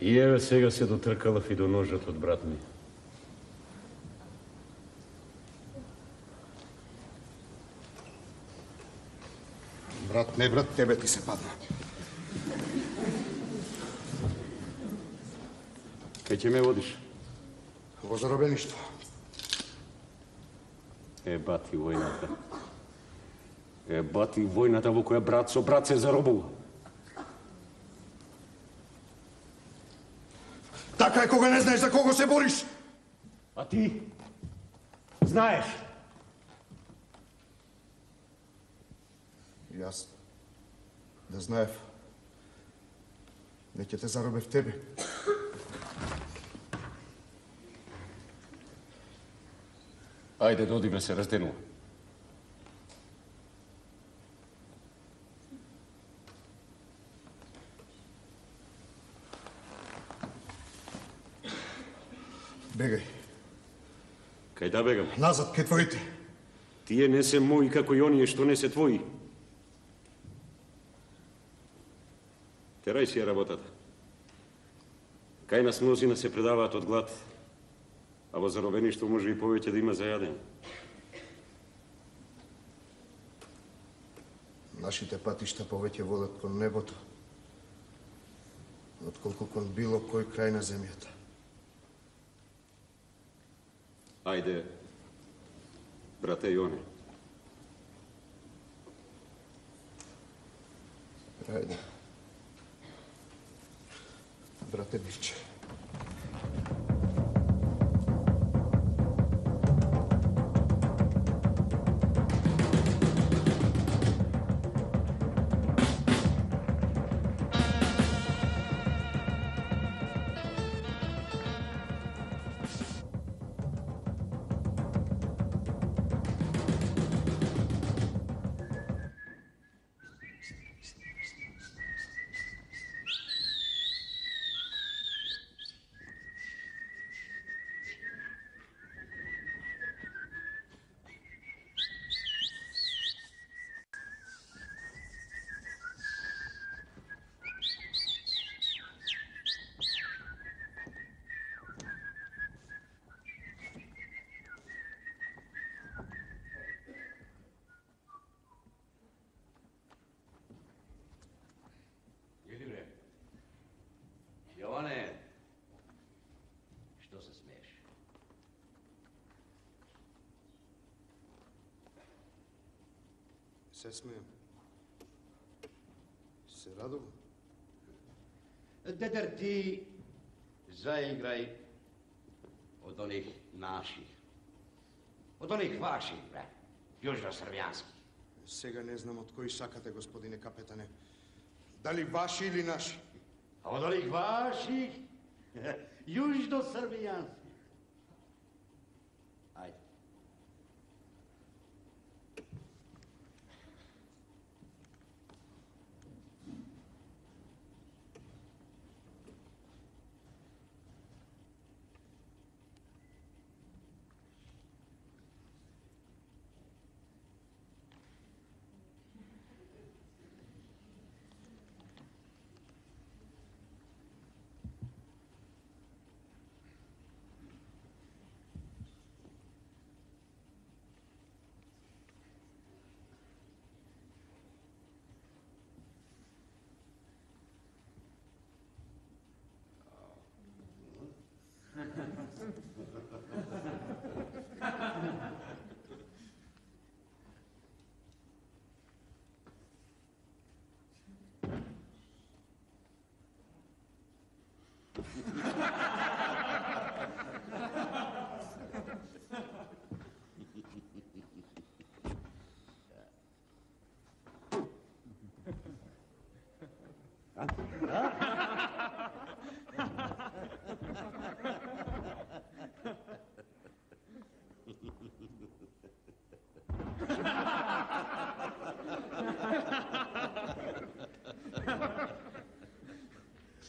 И еве сега се дотркалав и до ножот од брат ми. Брат, не брат, тебе ти се падна. Кај ќе ме водиш? Во заробеништво. Е, бати војната. Е, бати војната во која брат со брат се заробува. Така е кога не знаеш за кого се бориш. А ти? Знаеш? Јас да знаев, не ќе те заробев тебе. Ајде, додиме се разденува. Бегај. Кај да бегам? Назад, кај твоите. Тие не се мои како и оние што не се твои. Терај си ја работата. Кај нас мнозина се предаваат од глад, а во заробеништво може и повеќе да има за јадење. Нашите патишта повеќе водат кон небото, отколку кон било кој крај на земјата. Ајде, брате Јоне. Ајде. Брате Мирче. Јоване, што се смееш? Се смеем. Се радувам. Дедер, ти заиграј од оних наших. Од оних ваших, бре. Јужно-србјански. Сега не знам од кои сакате, господине капетане. Дали ваши или наши? А од оних ваших, јужно-србијански. Ајде.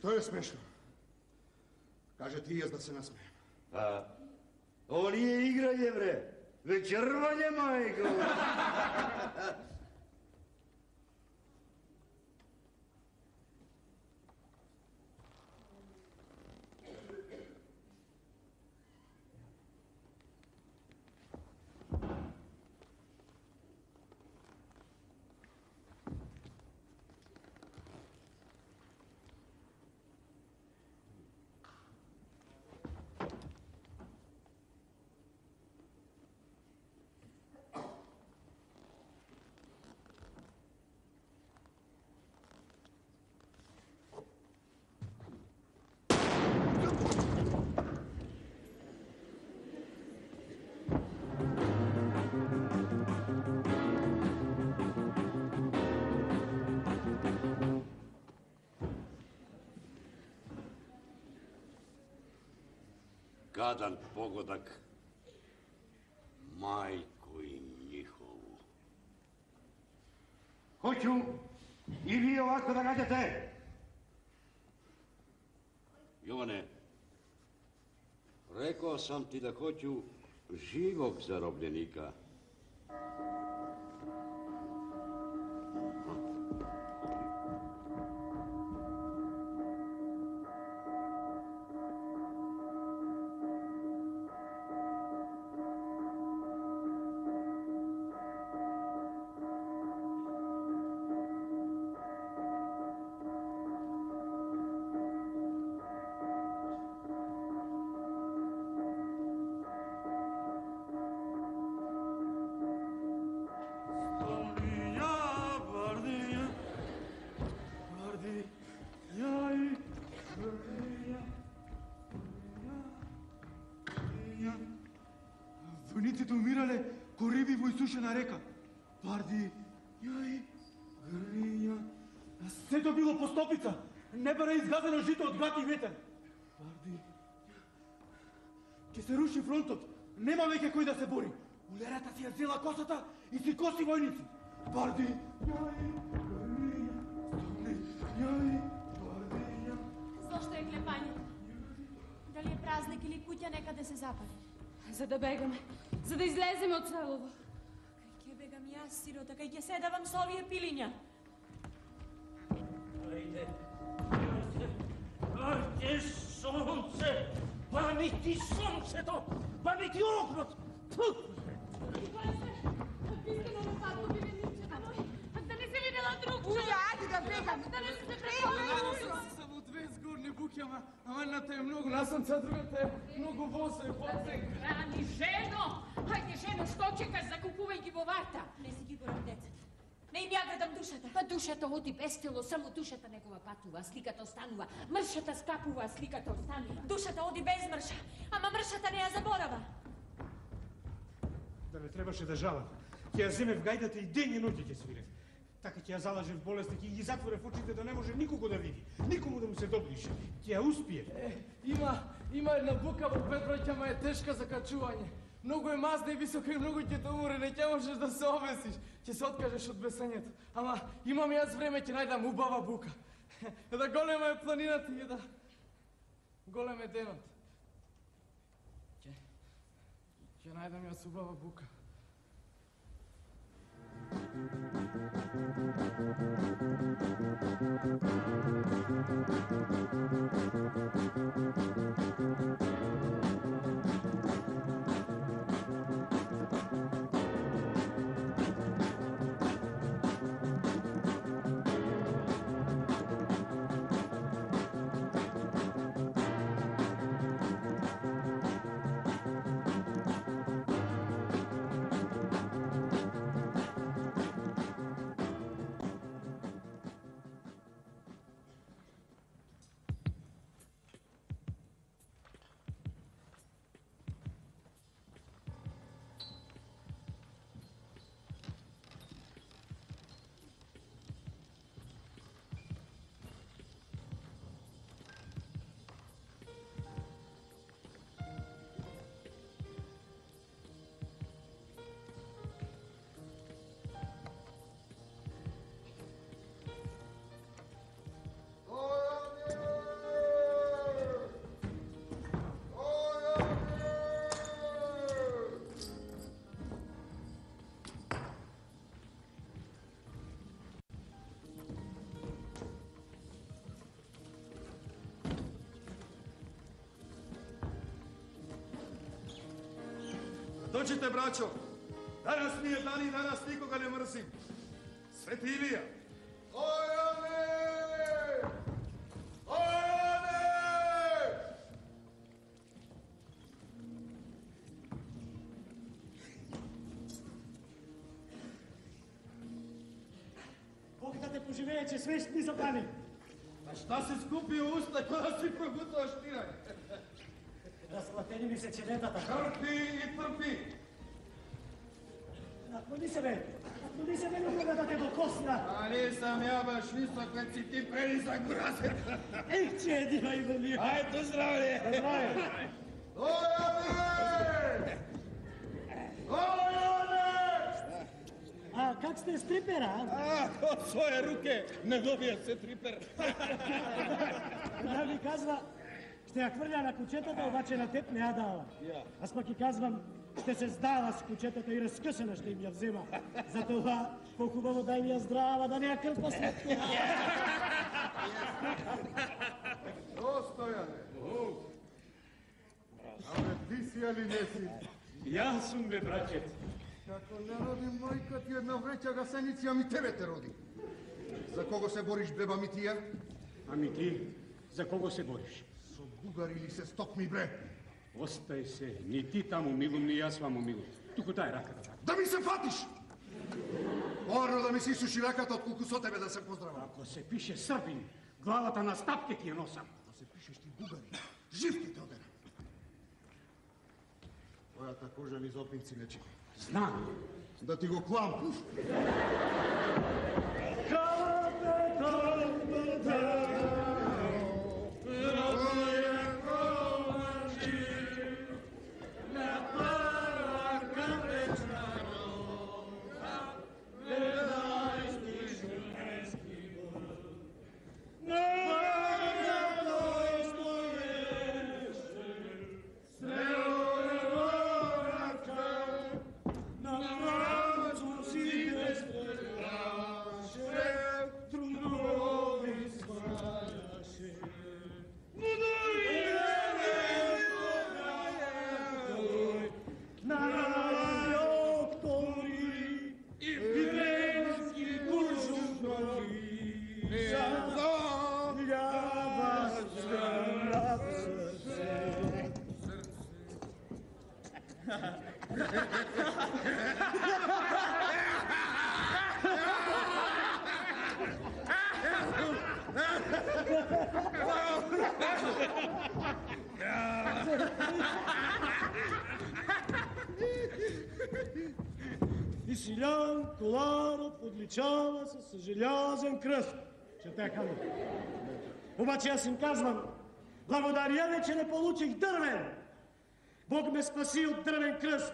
Што е смешно? Каже ти јас да се насмеем. А, ово не е играње, бре. Вечервање, мајко. Гадан погодак, мајко им нихову. Хоќу и вие овако да гаѓате. Јоване, рекоа сам ти да хоќу живог заробленика. Војниците умирале ко риби во исушена река. Барди, јај, гринја. Сето било по стопица. Не бара изгазено жито од гад и ветер. Барди, ќе се руши фронтот. Нема веќе кој да се бори. Улерата си ја зела косата и си коси војници. Барди, јај, гринја. Стомни, јај, бардиња. Зошто е клепање? Дали е празник или куќа некаде се запали? За да бегаме, за да излеземе од селово. Кај ќе бегам јас, сирота, кај ќе седавам со овие пилиња. Ајде, ајде, ајде, сонце, пами ти сонцето, пами ти огнот. Пискано на патко би веничета. Да не се видела друг човек. Уја, ајде да бегам. Да не се препомнила. Само две згорни буки, ама едната е многу насамца, другата е многу воса и воце. Рани, жено! Хајде, жено, што чекаш, закупувај ги во варта. Не си ги горам децата. Не им ја гледам душата. Па душата оди без тело, само душата негова патува, а сликата останува. Мршата скапува, а сликата останува. Душата оди без мрша, ама мршата не ја заборава. Да не требаше да жалам. Ќе ја земев гајдата и ден и ноќе ќе свирев. Така ќе ја залажев болест, ќе ги затворев очите да не може никого да види, никому да му се доближе. Ќе ја успие. Е, има, има една бука во Петроќа, ама е тешка за качување. Многу е мазна и висока и многу ќе те умори, не ќе можеш да се обесиш. Ќе се откажеш од бесањето. Ама имам јас време, ќе најдам убава бука. Да голема е планината и да голем е денот. Ќе, ќе најдам јас убава бука. Dođite, braćo. Danas mi je dan i danas nikoga ne mrzim. Sveti Ilija. Ojane! Ojane! Бог да те поживее, че свеш ни запани. А šta si skupio usta kada si progutao štiranje? Разплатени ми се чедетата. Трпи и трпи. Наклони се бе. Наклони се бе, не мога да те докосна. А nisam ja baš visok, kad si ti prelizak burazer. Ех, чеди, айде ми. Ajde, zdravlje. Здраве. Ojane! Ojane! А, как сте стрипера? А, от своje руке не добија се трипер. Да ми казва, ще ја хврля на кучетата, обаче на теб не ја дава. Аз пак и казвам, ще се здава с кучетата и разкъсана ще им ја взема. Затова по-хубаво дай ми ја здрава, да не ја крпа след това. Стојане. Абе, ти си али не си? Јас сум, бе, брачет. Како не роди мајка ти една вреќа гасеници, ами тебе те роди. За кого се бориш, беба Митија? Ами ти, за кого се бориш? Со бугари или се стокми, бре? Остај се, ни ти таму милум, ни јас ваму милум. Туку дај раката така. Да ми се фатиш! Порно да ми си суши раката, отколку со тебе да се поздравам. Ако се пише Србин, главата на стапке ти ја носам. Да се пишеш ти бугари, жив ти те одена. Твојата кожа ни зопинци не чини. Знам. Да ти го клам. И Силян Коларов одличава се с желязен кръст. Че така ли? Обаче аз им казвам, благодаря ви, че не получих дървен. Бог ме спаси от дървен кръст,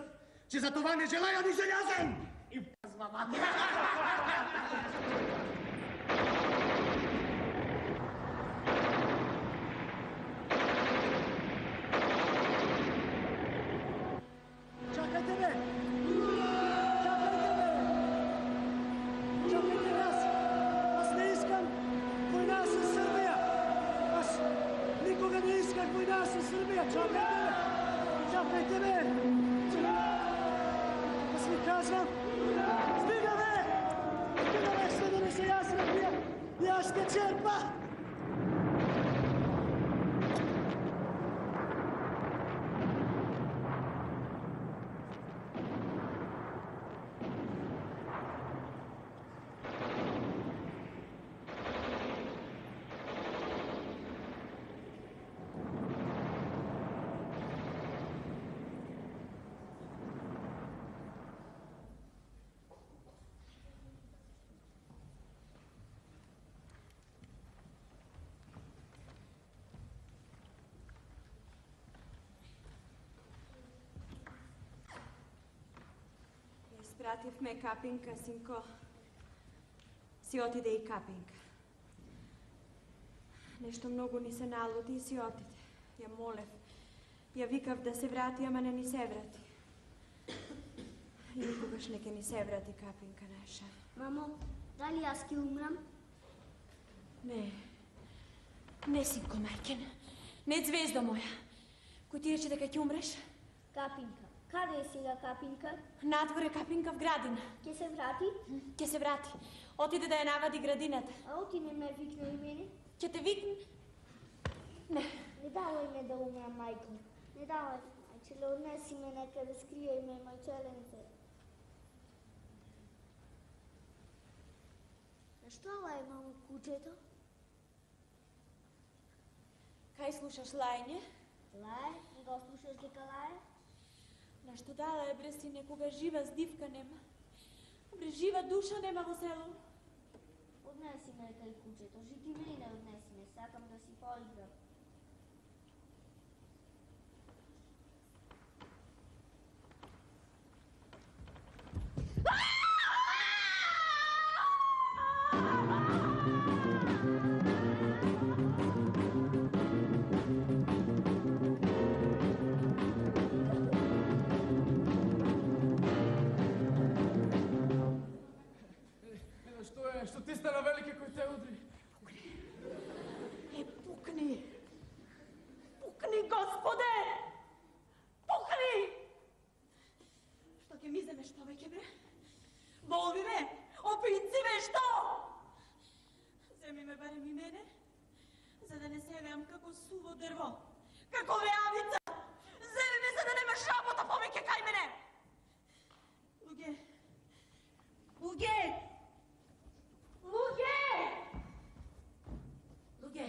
че за това не желая ни желязен. И казвам, а чакайте бе! Чакайте бе! Чакайте бе! Аз, аз не искам война с Сърбия! Аз никога не исках война с Сърбия! Чакайте бе! Чакайте бе! Аз ви казвам! Стига бе! Стига бе, ще да не се я Сърбия! И аз ще черпа! Испративме Капинка, синко. Си отиде и Капинка. Нешто многу ни се налуди и си отиде. Ја молев. Ја викав да се врати, ама не ни се врати. И никогаш не ке ни се врати Капинка наша. Мамо, дали јас ќе умрам? Не. Не, синко, мајкен. Не, звезда моја. Кој ти рече дека ќе умреш? Капинка. Каде е сега Капинка? Надвор е Капинка в градина. Ке се врати? Ке се врати. Отиде да ја навади градината. А оти не ме викна и мене? Ќе те викне? Не. Не давај ме да умрам, мајко. Не давај. Че ле однеси ме некаде, скријај ме, мајчеленце. Што лај, мамо, кучето? Кај слушаш лајње? Лај? Не го слушаш дека лај? Нешто дала е, бре, си, некога жива здивка нема. Бре, жива душа нема во село. Однеси ме кај кучето, жити мене однеси ме, сакам да си поиграм. Што е? Што ти стана велики кој те удри? Е, пукни! Пукни, Господе! Пукни! Што ќе ми земеш повеќе, бре? Волви ме! Опици ме, што? Земи ме барем и мене, за да не се веам како суво дрво, како веавица! Земи ме, за да немаш работа повеќе кај мене! Луѓе! Луѓе! Луѓе! Луѓе,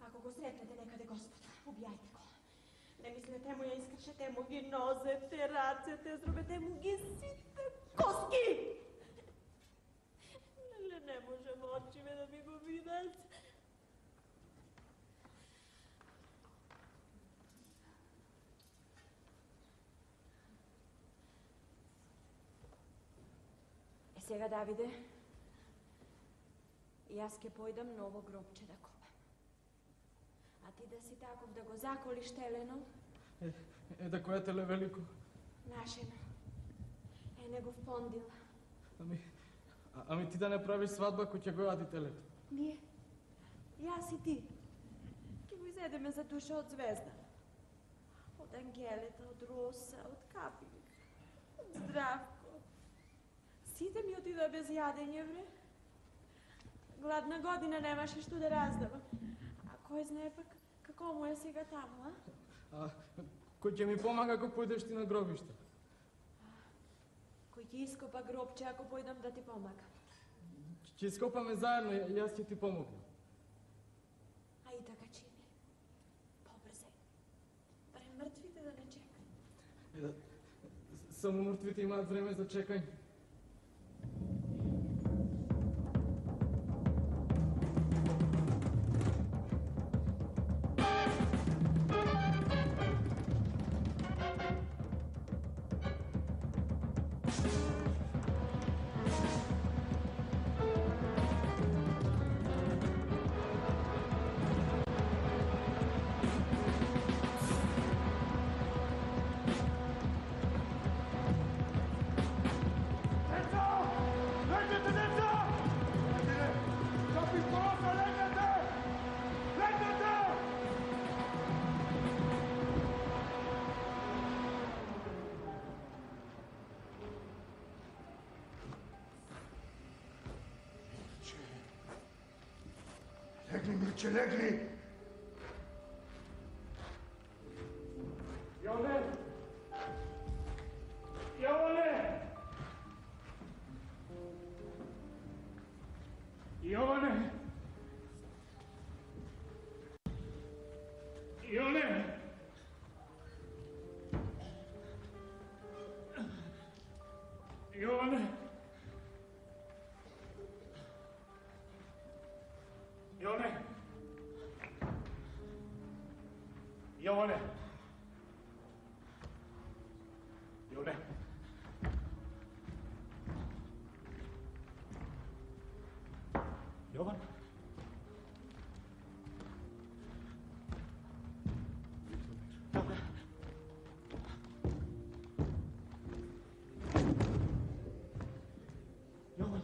ако го сретнете некаде Господ, убијајте го. Не мислете му ја искршете му ги нозете, рацете, зробете му ги сите коски. Нели не може очиме да ми го видат? Е сега, Давиде, јас ке појдам ново гробче да копам. А ти да си таков да го заколиш телено? Е, е да која теле велико? Нашена. Е, негов пондила. Ами, а, ами ти да не правиш свадба кој ќе го јади телето? Ние, јас и ти, ке го изедеме за душа од звезда. Од Ангелета, од Роса, од Капинка, од Здравко. Сите ми отидоа без јадење, бре. Гладна година немаше што да раздава. А кој знае пак како му е сега таму, а? А кој ќе ми помага ако појдеш ти на гробиште? Кој ќе ископа гробче ако појдам да ти помагам? Ќе ископаме заедно, јас ќе ти помогнам. А и така чини. Побрзај. Барем мртвите да не чекаат. Само мртвите имаат време за чекање. Легни, Мирче, легни! Јоване! Јоване! Јоване! Јоване! Јоване! Јоване! Јоване! Јоване! Јован? Јован?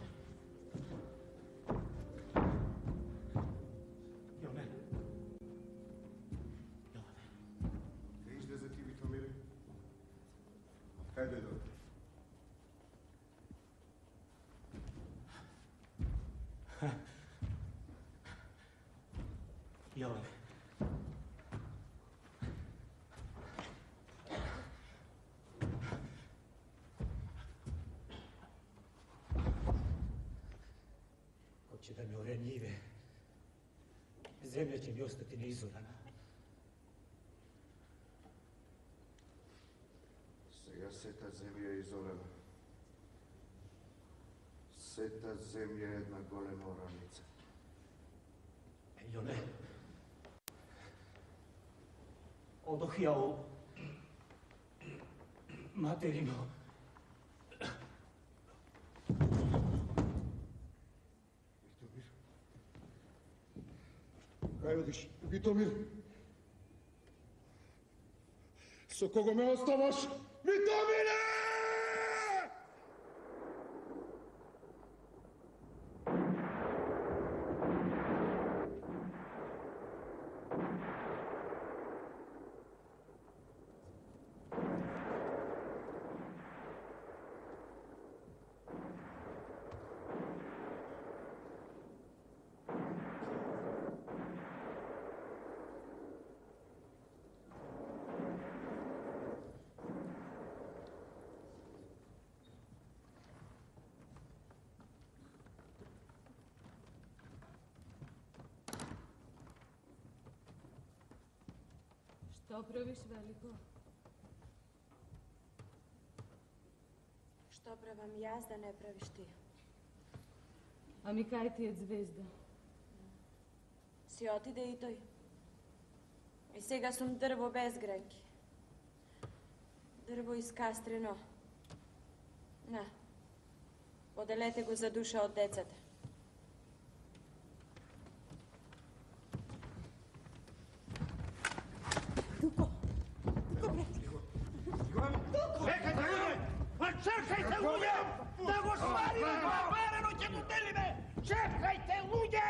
Јоване? Ке излезе ти, Витомире? Јоване. Hoće da mi ore njive. Zemlja će mi ostati neizorana. Сега сета земја е изорена. Сета земја е една голема ораница. Јоне, одох ја у материно. Витомир. Кај одиш? Витомир. Со кого ме оставаш? Витомире! Што правиш, Велико? Што правам јас да не правиш ти? Ами кај ти е звезда? Си отиде и тој. И сега сум дрво без грајки. Дрво искастрено. На. Поделете го за душа од децата. Чекајте, луѓе! Па чекајте, луѓе! Да го свариме тоа варено ќе го делиме! Чекајте, луѓе!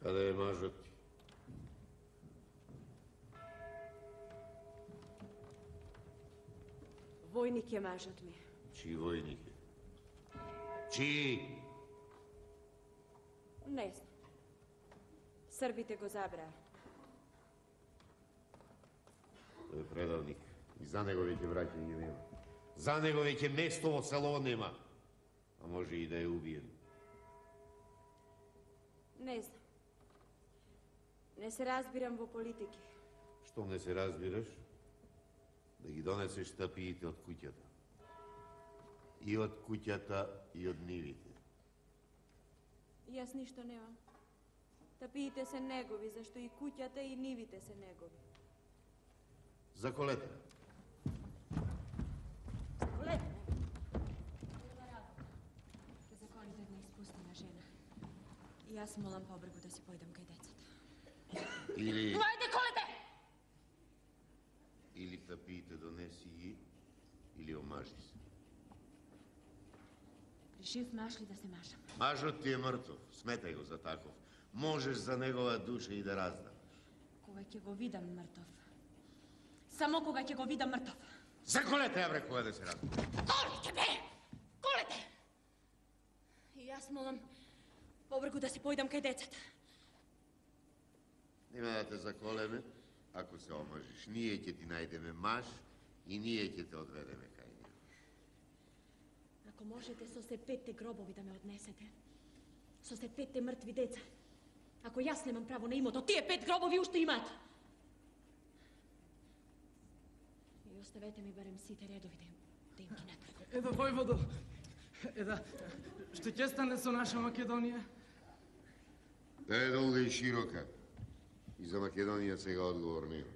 Каде е мажот ти? Војник е мажот ми. Чии војник е? Чии? Не знам. Србите го забраа. Тој е предавник. И за него веќе враќање нема. За него веќе место во село нема. А може и да е убиен. Не знам. Не се разбирам во политики. Што не се разбираш? Да ги донесеш тапиите од куќата. И од куќата, и од нивите. Јас ништо немам. Тапиите се негови, зашто и куќата и нивите се негови. Заколете. Заколете? Ке законите една испустена жена. И јас молам побргу да си појдам кај децата. Или... Ајде, колете! Или тапиите донеси ги, или омажи се. Решив маш ли да се машам? Мажот ти е мртов, сметај го за таков. Можеш за негова душа и да раздаваш. Кога ќе го видам мртов. Само кога ќе го видам мртов. Заколете, ја бре, кога да се раздава. Колете, бе! Колете! И јас молам побргу да си појдам кај децата. Нема да те заколеме, ако се омажиш. Ние ќе ти најдеме маж и ние ќе те одведеме кај него. Ако можете со се петте гробови да ме однесете, со се петте мртви деца, ако јас немам право на имото, тие пет гробови уште имаат. И оставете ми барем сите редови да им, да им ги направам. Еда, војводо, еда, што ќе стане со наша Македонија? Да е долга и широка. И за Македонија сега одговор нема.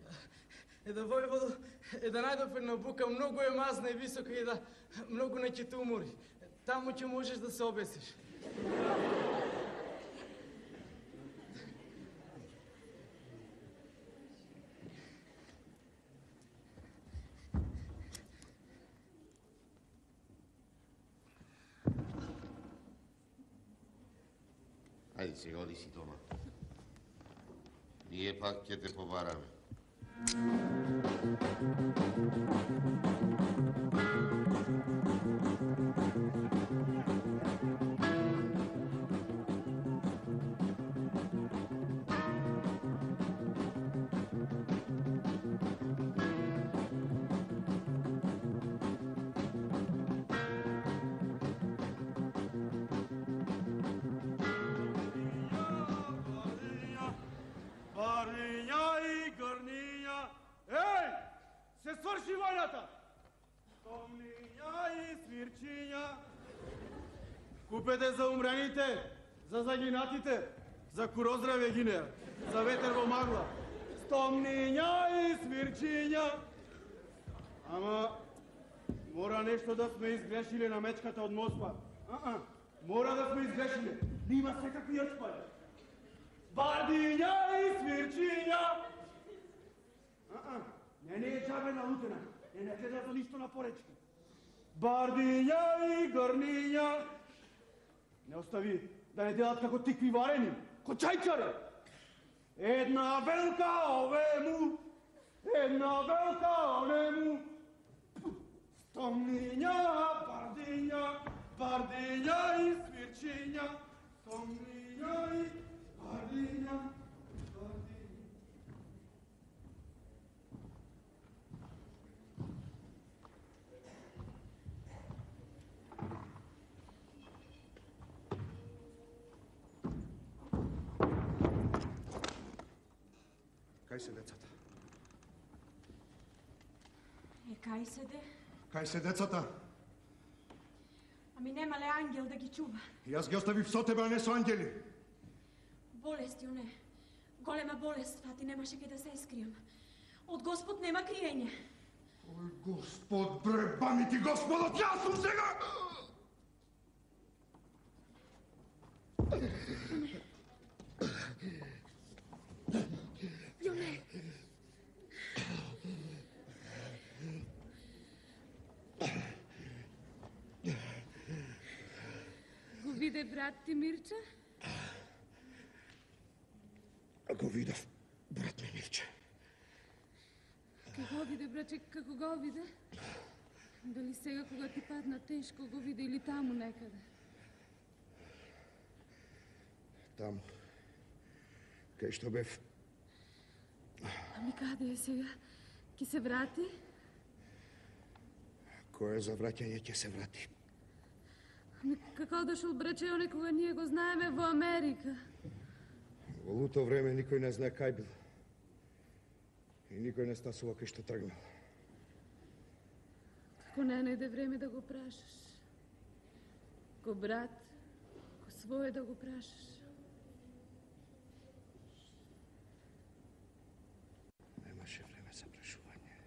Еда, војводо, еда најдов една бука, многу е мазна и висока и да многу не ќе те умори. Таму ќе можеш да се обесиш. Хајде сега, оди си дома. Ние пак ќе те побараме. Бариња и грниња, еј, се сврши војната! Томниња и свирчиња, купете за умрените, за загинатите, за куроздраве гинеа, за ветер во магла. Стомниња и свирчиња. Ама, мора нешто да сме изгрешиле на мечката од Моспа. А-а, мора да сме изгрешиле. Нима секакви јачпаји. Бардиња и свирчиња. А-а, не не е джабена лутена, не не гледа за ништо на поречки. Бардиња и грниња. Не остави да не делат како тикви варени, ко чајчаре. Една велка овему, една велка онему. Стомниња, бардиња, бардиња и свирчиња. Стомниња и бардиња, бардиња. Кај се децата? Е, кај се де? Кај се децата? Ами нема ле ангел да ги чува? Јас ги оставив со тебе, а не со ангели. Болести, оне. Голема болест, фати, немаше кај да се искријам. Од Господ нема криење. Ој, Господ, бре, бани ти Господот, јас сум сега! Јоне. Го виде брат ти Мирче? Го видов, брат ми Мирче. Како го виде, браче, како го виде? Дали сега кога ти падна тешко го виде или таму некаде? Таму. Кај што бев. Ами каде е сега? Ки се врати? Кој е за враќање ќе се врати. Ами како дошол браче, оне кога ние го знаеме во Америка? Во луто време никој не знае кај бил. И никој не стасува кај што тргнал. Како не најде време да го прашаш? Ко брат, ко своje да го прашаш? Немаше време за прашување.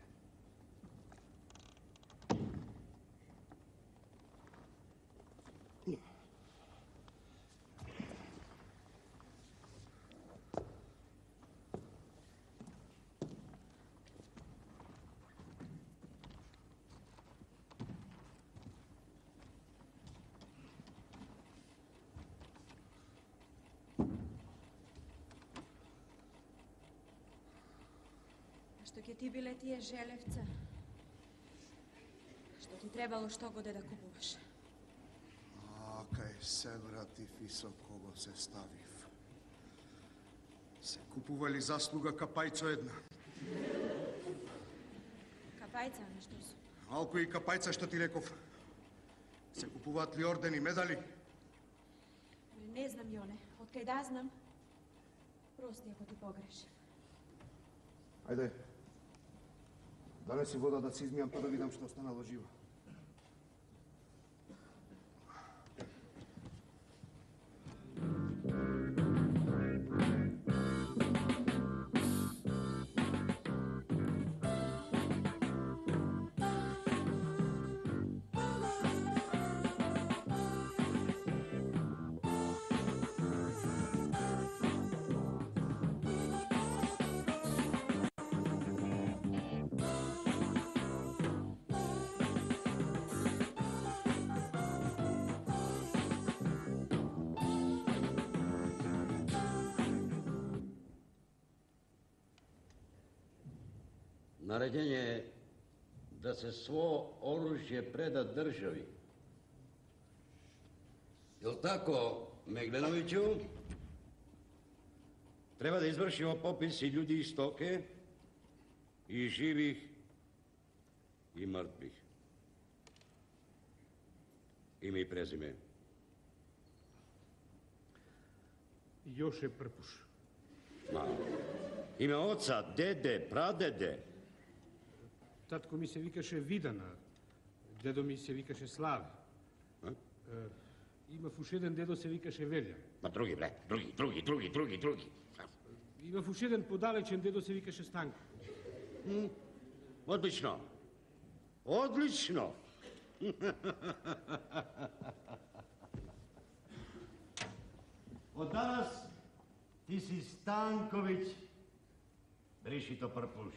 Што ќе ти биле тие желевца? Што ти требало што годе да купуваш? А, кај се вратив и со кого се ставив. Се купували заслуга капајцо една. Капајца, ами што су? Малку и капајца што ти реков. Се купуваат ли ордени, медали? Не знам, Јоне. Откај да знам, прости ако ти погрешам. Ајде. Донеси вода да се измијам па да видам што останало живо. Наредење е да се сво оружје преда држави. Јел тако, Мегленовиќу? Треба да извршимо попис и људи и стоке, и живих, и мртвих. Име и презиме. Јоше Прпуш. Ма, име оца, деде, прадеде. Татко ми се викаше Видана, дедо ми се викаше Славе. А? Е, имав уш еден дедо се викаше Велја. Ма други, бре, други, други, други, други, други. Имав уш еден подалечен дедо се викаше Станко. М? Одлично. Одлично. Од данас ти си Станковиќ, Бришито Прпуш.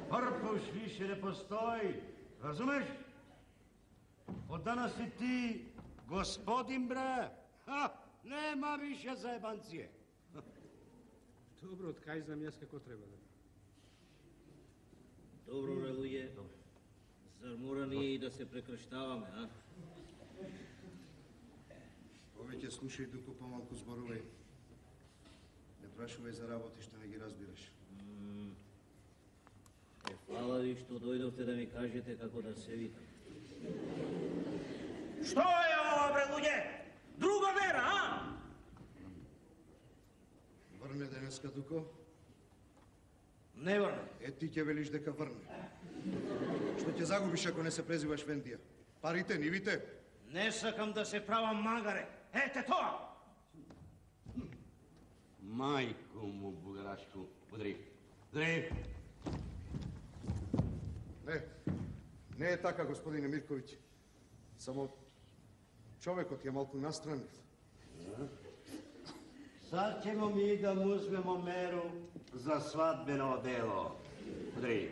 Прпуш више не постои, разумеш? Од данас си ти господин, бре. Ха, нема више заебанција. Добро, од кај знам јас како треба да. Добро, бре, луѓе. Зар мора ние и да се прекрштаваме, а? Повеќе слушај, дуко помалку зборувај. Не прашувај за работи што не ги разбираш. Е, фала ви што дојдовте да ми кажете како да се викам. Што е ова, бре, луѓе? Друга вера, а? Врне денеска, дуко? Не врне. Е, ти ќе велиш дека врне. Што ќе загубиш ако не се презиваш Вендија? Парите, нивите? Не сакам да се правам магаре. Ете тоа! Мајко му, бугарашко, удри. Удри. Не, не е така, господине Мирковиќ. Само човекот е малку настранив. Сад ćemo mi da mu uzmemo meru za svadbeno delo. Udri.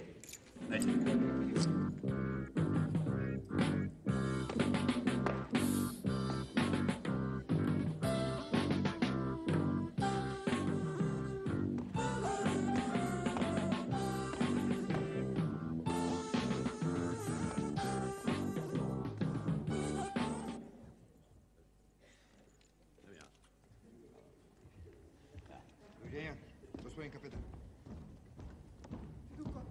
Господин капетан. Дуко,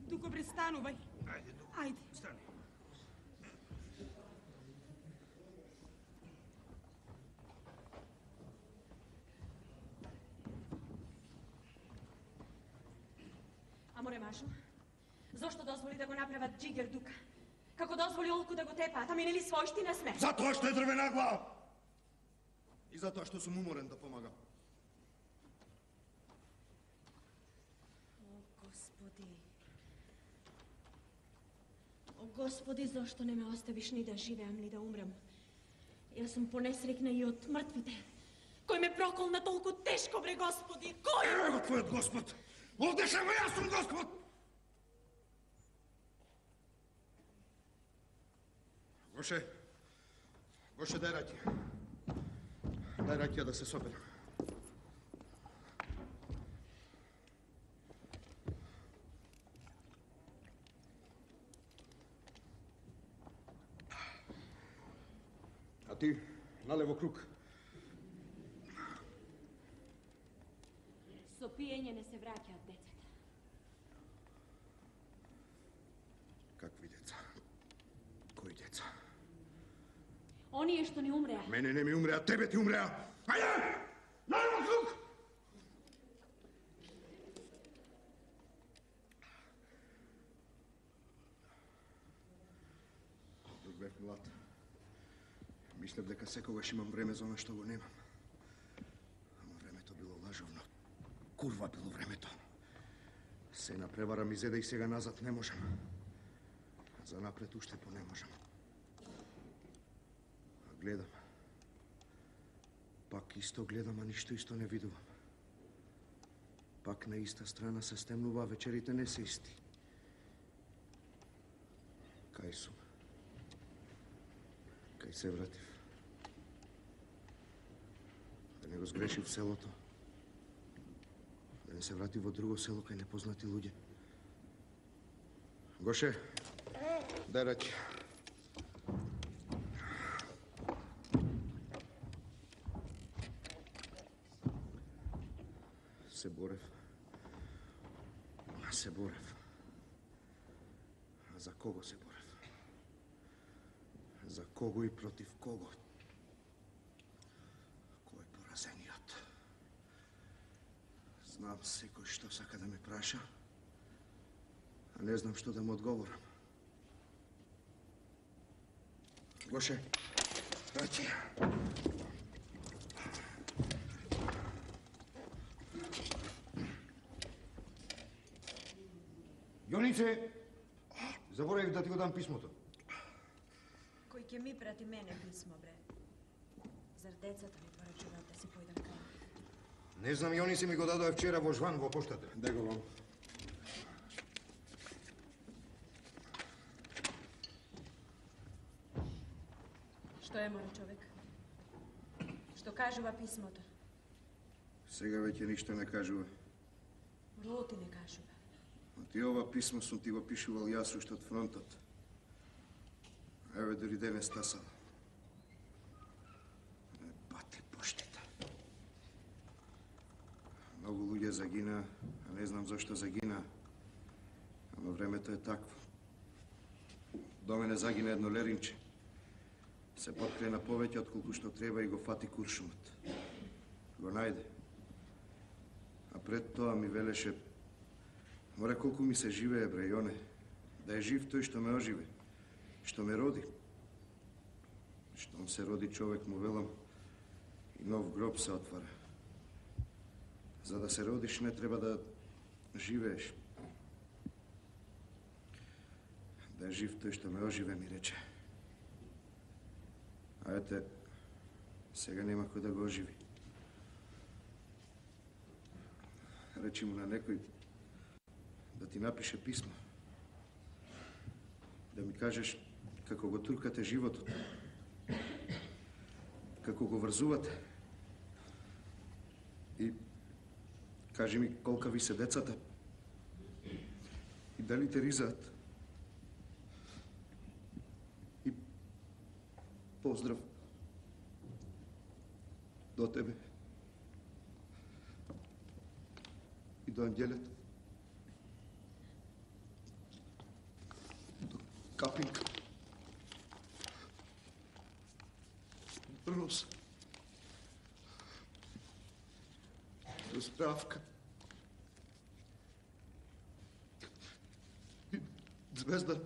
Дуко, бре, станувај. Ајде, Дуко. Ајде. Стани. А море, Машо, зошто дозволи да го направат джигер Дука? Како дозволи Олку да го тепаат, ами нели својштина сме? Затоа што е дрвена глава! И затоа што сум уморен да помагам. Господи. О, Господи, зошто не ме оставиш ни да живеам, ни да умрем? Јас сум понесрекна и од мртвите. Кој ме проколна толку тешко, бре, Господи? Кој? Ево твојот Господ! Овде шево јас сум Господ! Гоше, Гоше, дај раќија. Дај раќија да се соберам. А ти, налево круг. Со пиење не се враќаат децата. Какви деца? Кои деца? Оние што ни умреа. Мене не ми умреа, тебе ти умреа. Ајде! Налево круг! Док бев млад. Мислев дека секогаш имам време за оно што го немам. Ама времето било лажовно. Курва било времето. Се напревара ми зеда и сега назад не можам. За напред уште по не можам. А гледам. Пак исто гледам, а ништо исто не видувам. Пак на иста страна се стемнува, а вечерите не се исти. Кај сум? Кај се вратив? Да не го сгрешив селото? Да не да се врати во друго село кај непознати луѓе. Гоше, дај раки. Се борев. Се борев. За кого се борев? За кого и против кого? Кој е поразениот? Знам секој што сака да ме праша, а не знам што да му одговорам. Гоше, раки. Јонице, заборавив да ти го дам писмото. Кој ќе ми прати мене писмо, бре? Зар децата ми порачуваат да си појдам кај? Не знам, Јонице ми го дадоа вчера во жван во поштата. Дај го вам. Што е, мој човек? Што кажува писмото? Сега веќе ништо не кажува. Роти не кажува. А ти ова писмо сум ти го пишувал јас уште од фронтот. Еве дори денес стасал. Не пати поштите. Многу луѓе загина, а не знам зашто загина. Ама времето е такво. До мене загина едно леринче. Се подкрена повеќе отколку што треба и го фати куршумот. Го најде. А пред тоа ми велеше: море колку ми се живее, бре, Јоне. Да е жив тој што ме оживе, што ме роди. Штом се роди човек, му велам, и нов гроб се отвара. За да се родиш не треба да живееш. Да е жив тој што ме оживе, ми рече. А ете, сега нема кој да го оживи. Речи му на некој да ти напише писмо. Да ми кажеш како го туркате животот. Како го врзувате. И кажи ми колка ви се децата. И дали те ризаат. И поздрав до тебе. И до ангелето. До Капинка. До Роса. До Здравка. И Звезда.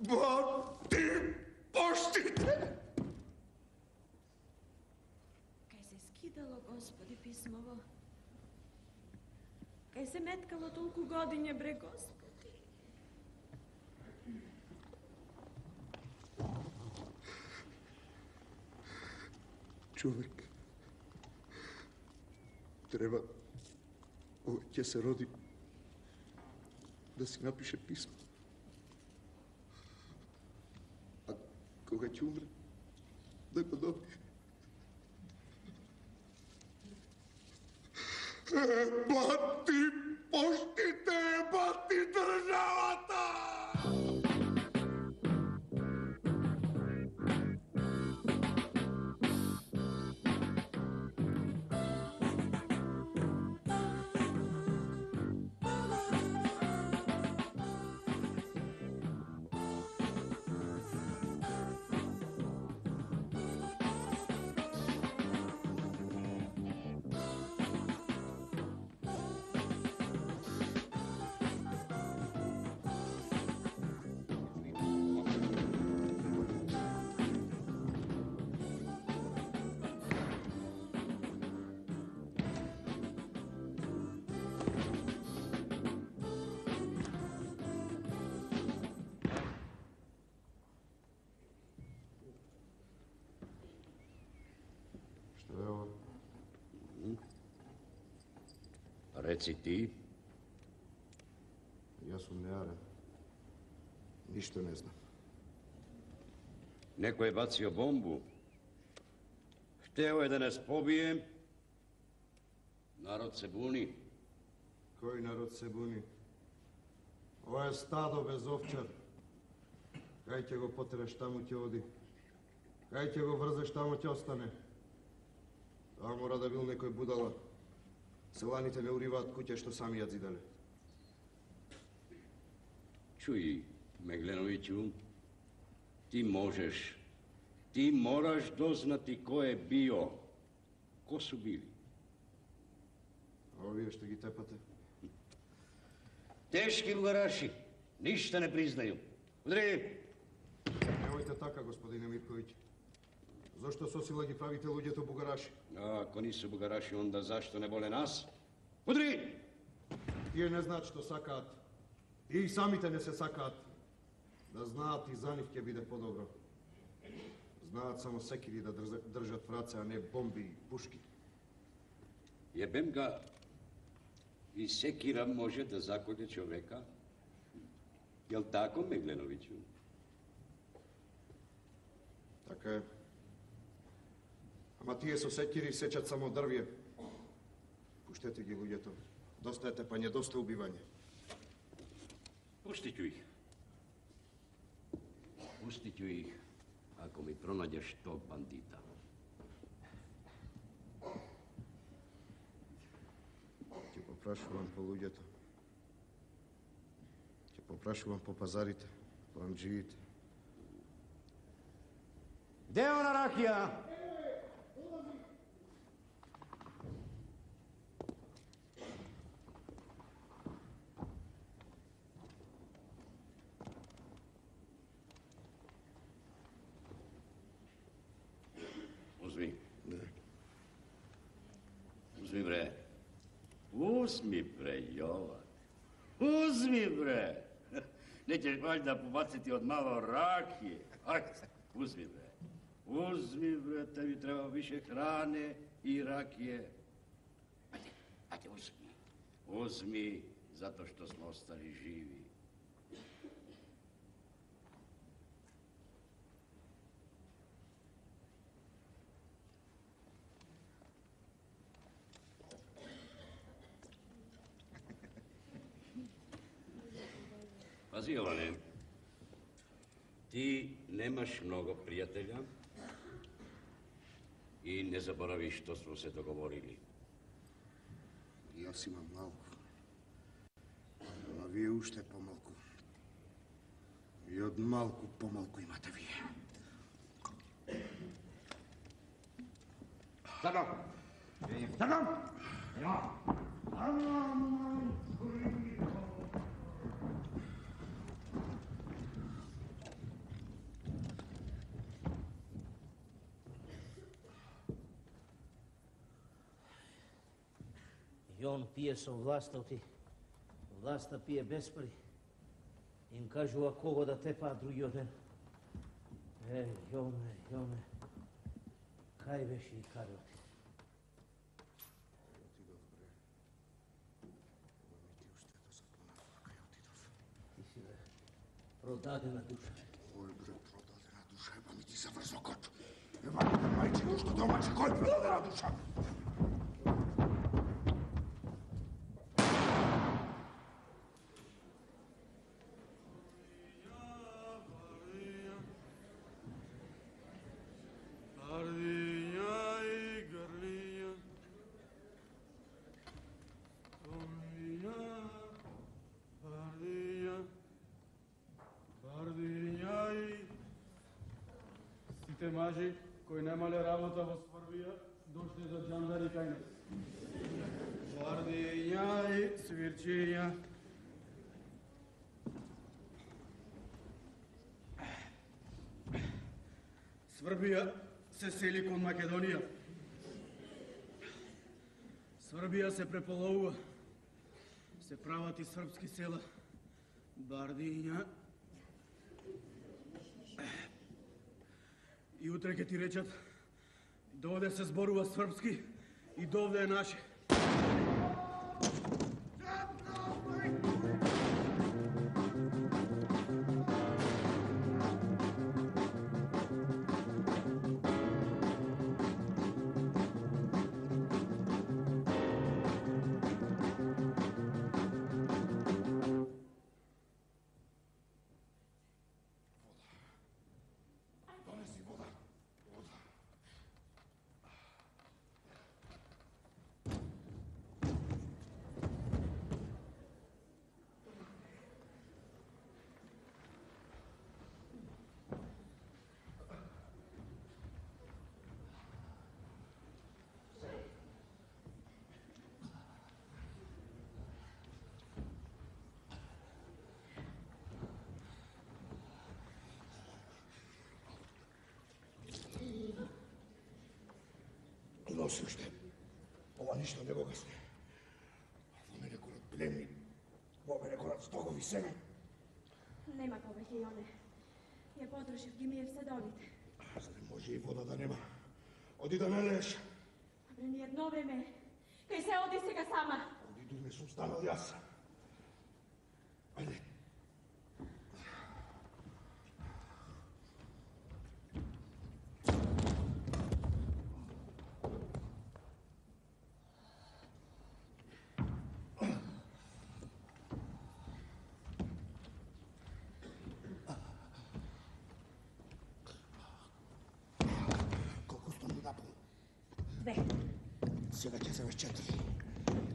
Ба, ти поштите! Кај се скидало, Господи, писмово? Кај се меткало толку годиње, бре, Господи? Човек треба, ова ќе се роди, да си напише писмо. А кога ќе умре, да го добие. Бати поштите, бати државата! Реци ти. Јас сум неарен. Ништо не знам. Некој е бацио бомбу. Тeo je da nas pobije. Narod se buni. Кој народ се буни? Ова е стадо без овчар. Кај ќе го потераш, таму ќе оди. Кај ќе го врзеш, таму ќе остане. Това мора да бил некој будала. Селаните не уриваат куќе што сами ја зидале. Čuj, Meglenoviću, ti možeš, ti moraš doznati ko je bio, ko su bili. A ovие што ги тепате? Teški bugaraši, ništa ne priznaju. Udri! Немојте така, господине Мирковиќ. Зошто со сила ги правите луѓето бугараши? A ako nisu bugaraši, onda zašto ne vole nas? Udri! Тие не знаат што сакаат. И самите не се сакаат. Да знаат и за нив ќе биде подобро. Знаат само секири да држат в раце, а не бомби и пушки. Jebem ga, i sekira može da zakolje čoveka. Jel tako, Meglenoviću? Така е. Ама тие со секири сечат само дрвје. Пуштете ги луѓето. Доста е тепање, доста убивање. Pustit ću ih. Pustit ću ih ako mi pronađeš tog bandita. Ќе попрашувам по луѓето. Ќе попрашувам по пазарите, по амџиите. Gde je ona rakija? Uzmi. Uzmi, bre. Uzmi, bre, Jovan. Uzmi, bre. Nećeš valjda pobaciti od malo rakije. Ajde, uzmi, bre. Uzmi, bre, tebi treba više hrane i rakije. Ajde, ajde, uzmi. Uzmi, zato što smo ostali živi. Pazi, Jovane, ti nemaš mnogo prijatelja i ne zaboravi što smo se dogovorili. Јас имам малку, ама вие уште помалку. И од малку помалку имате вие. Стадам! Стадам! Ja! I on pije со власта, ти власта пие без пари. Им кажува кого да тепаат другиот ден. Е, Јоне, Јоне, кај беше и каде оти? Отидов, бре. Ама ми ти уште да се понадува кај отидов. Ти си, бре, продадена душа. Кој, бре, продадена душа? Еба ми ти за врзокот. Еба ми те мајче ушто домаче, кој продадена душа? Сите мажи кои немале работа во Сврбија, дошле за џандари кај нас. Бардиња и свирчиња. Сврбија се сели кон Македонија. Сврбија се преполовува. Се прават и српски села. Бардиња. И утре ќе ти речат, довде се зборува српски и довде е наше. носи уште. Ова ништо не го гасне. Во мене корат племни, во мене корат стогови семе. Нема повеќе, Јоне. Ја потрошив, ги миев седовите. За не може и вода да нема. Оди да не лееш. Абре, ни едно време. Кај се оди сега сама. Оди дур не сум станал јас. Ајде. Две. Сега ќе земеш четири.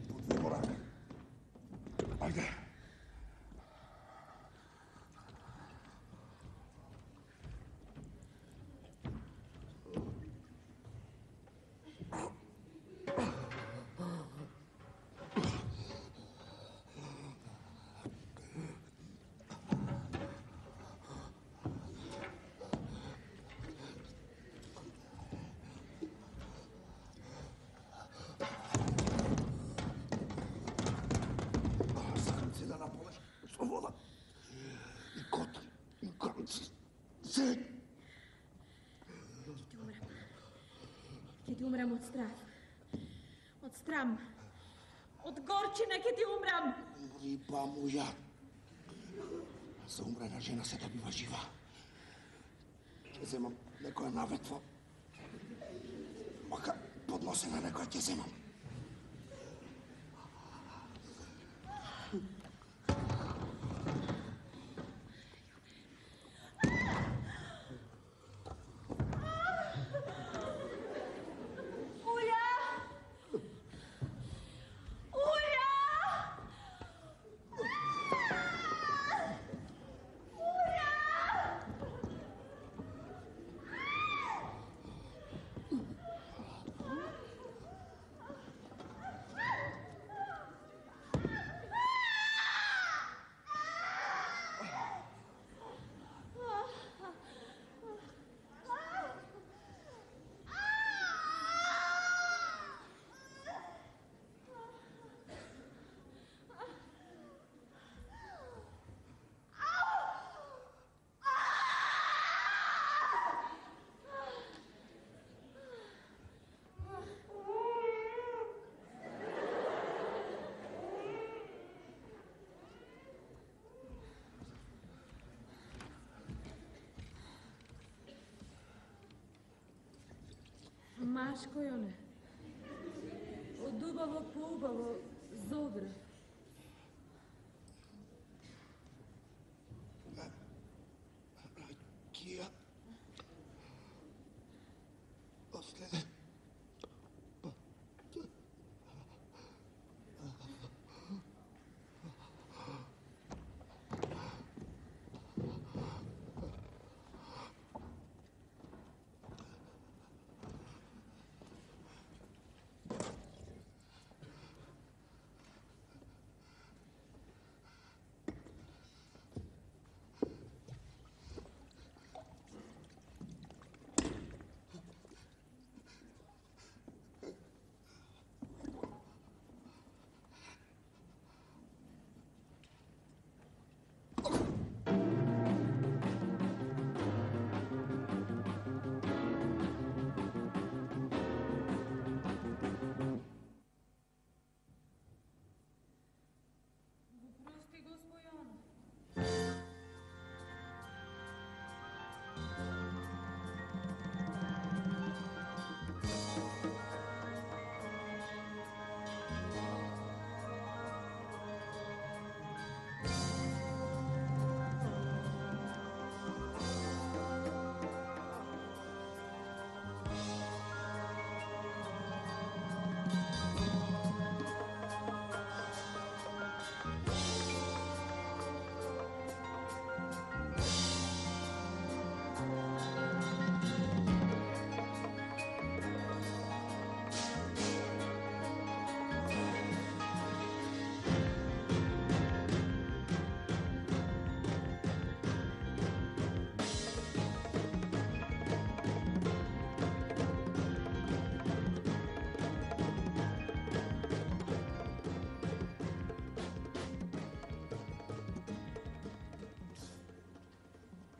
По две корак. Ајде. Ќе ти умрам од страх. Од срам. Од горчина ќе ти умрам. Риба моја. За умрена жена се добива жива. Ќе земам некоја наветва. Мака подносена некоја ќе земам. Машко, Јоне. Од убаво по убаво, зодра. Кија. Последен.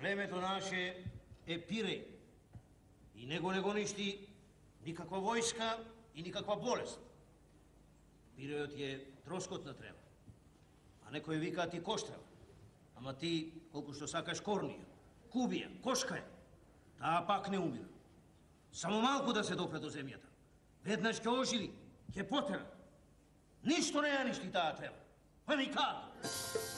Племето наше е Пиреј. И него не го ништи никаква војска и никаква болест. Пирејот е троскотна трева. А некој вика ти коштрева. Ама ти, колку што сакаш корнија, кубија, кошка е, таа пак не умира. Само малку да се допре до земјата. Веднаш ќе оживи, ќе потера. Ништо не ја ништи таа трева. Па никако.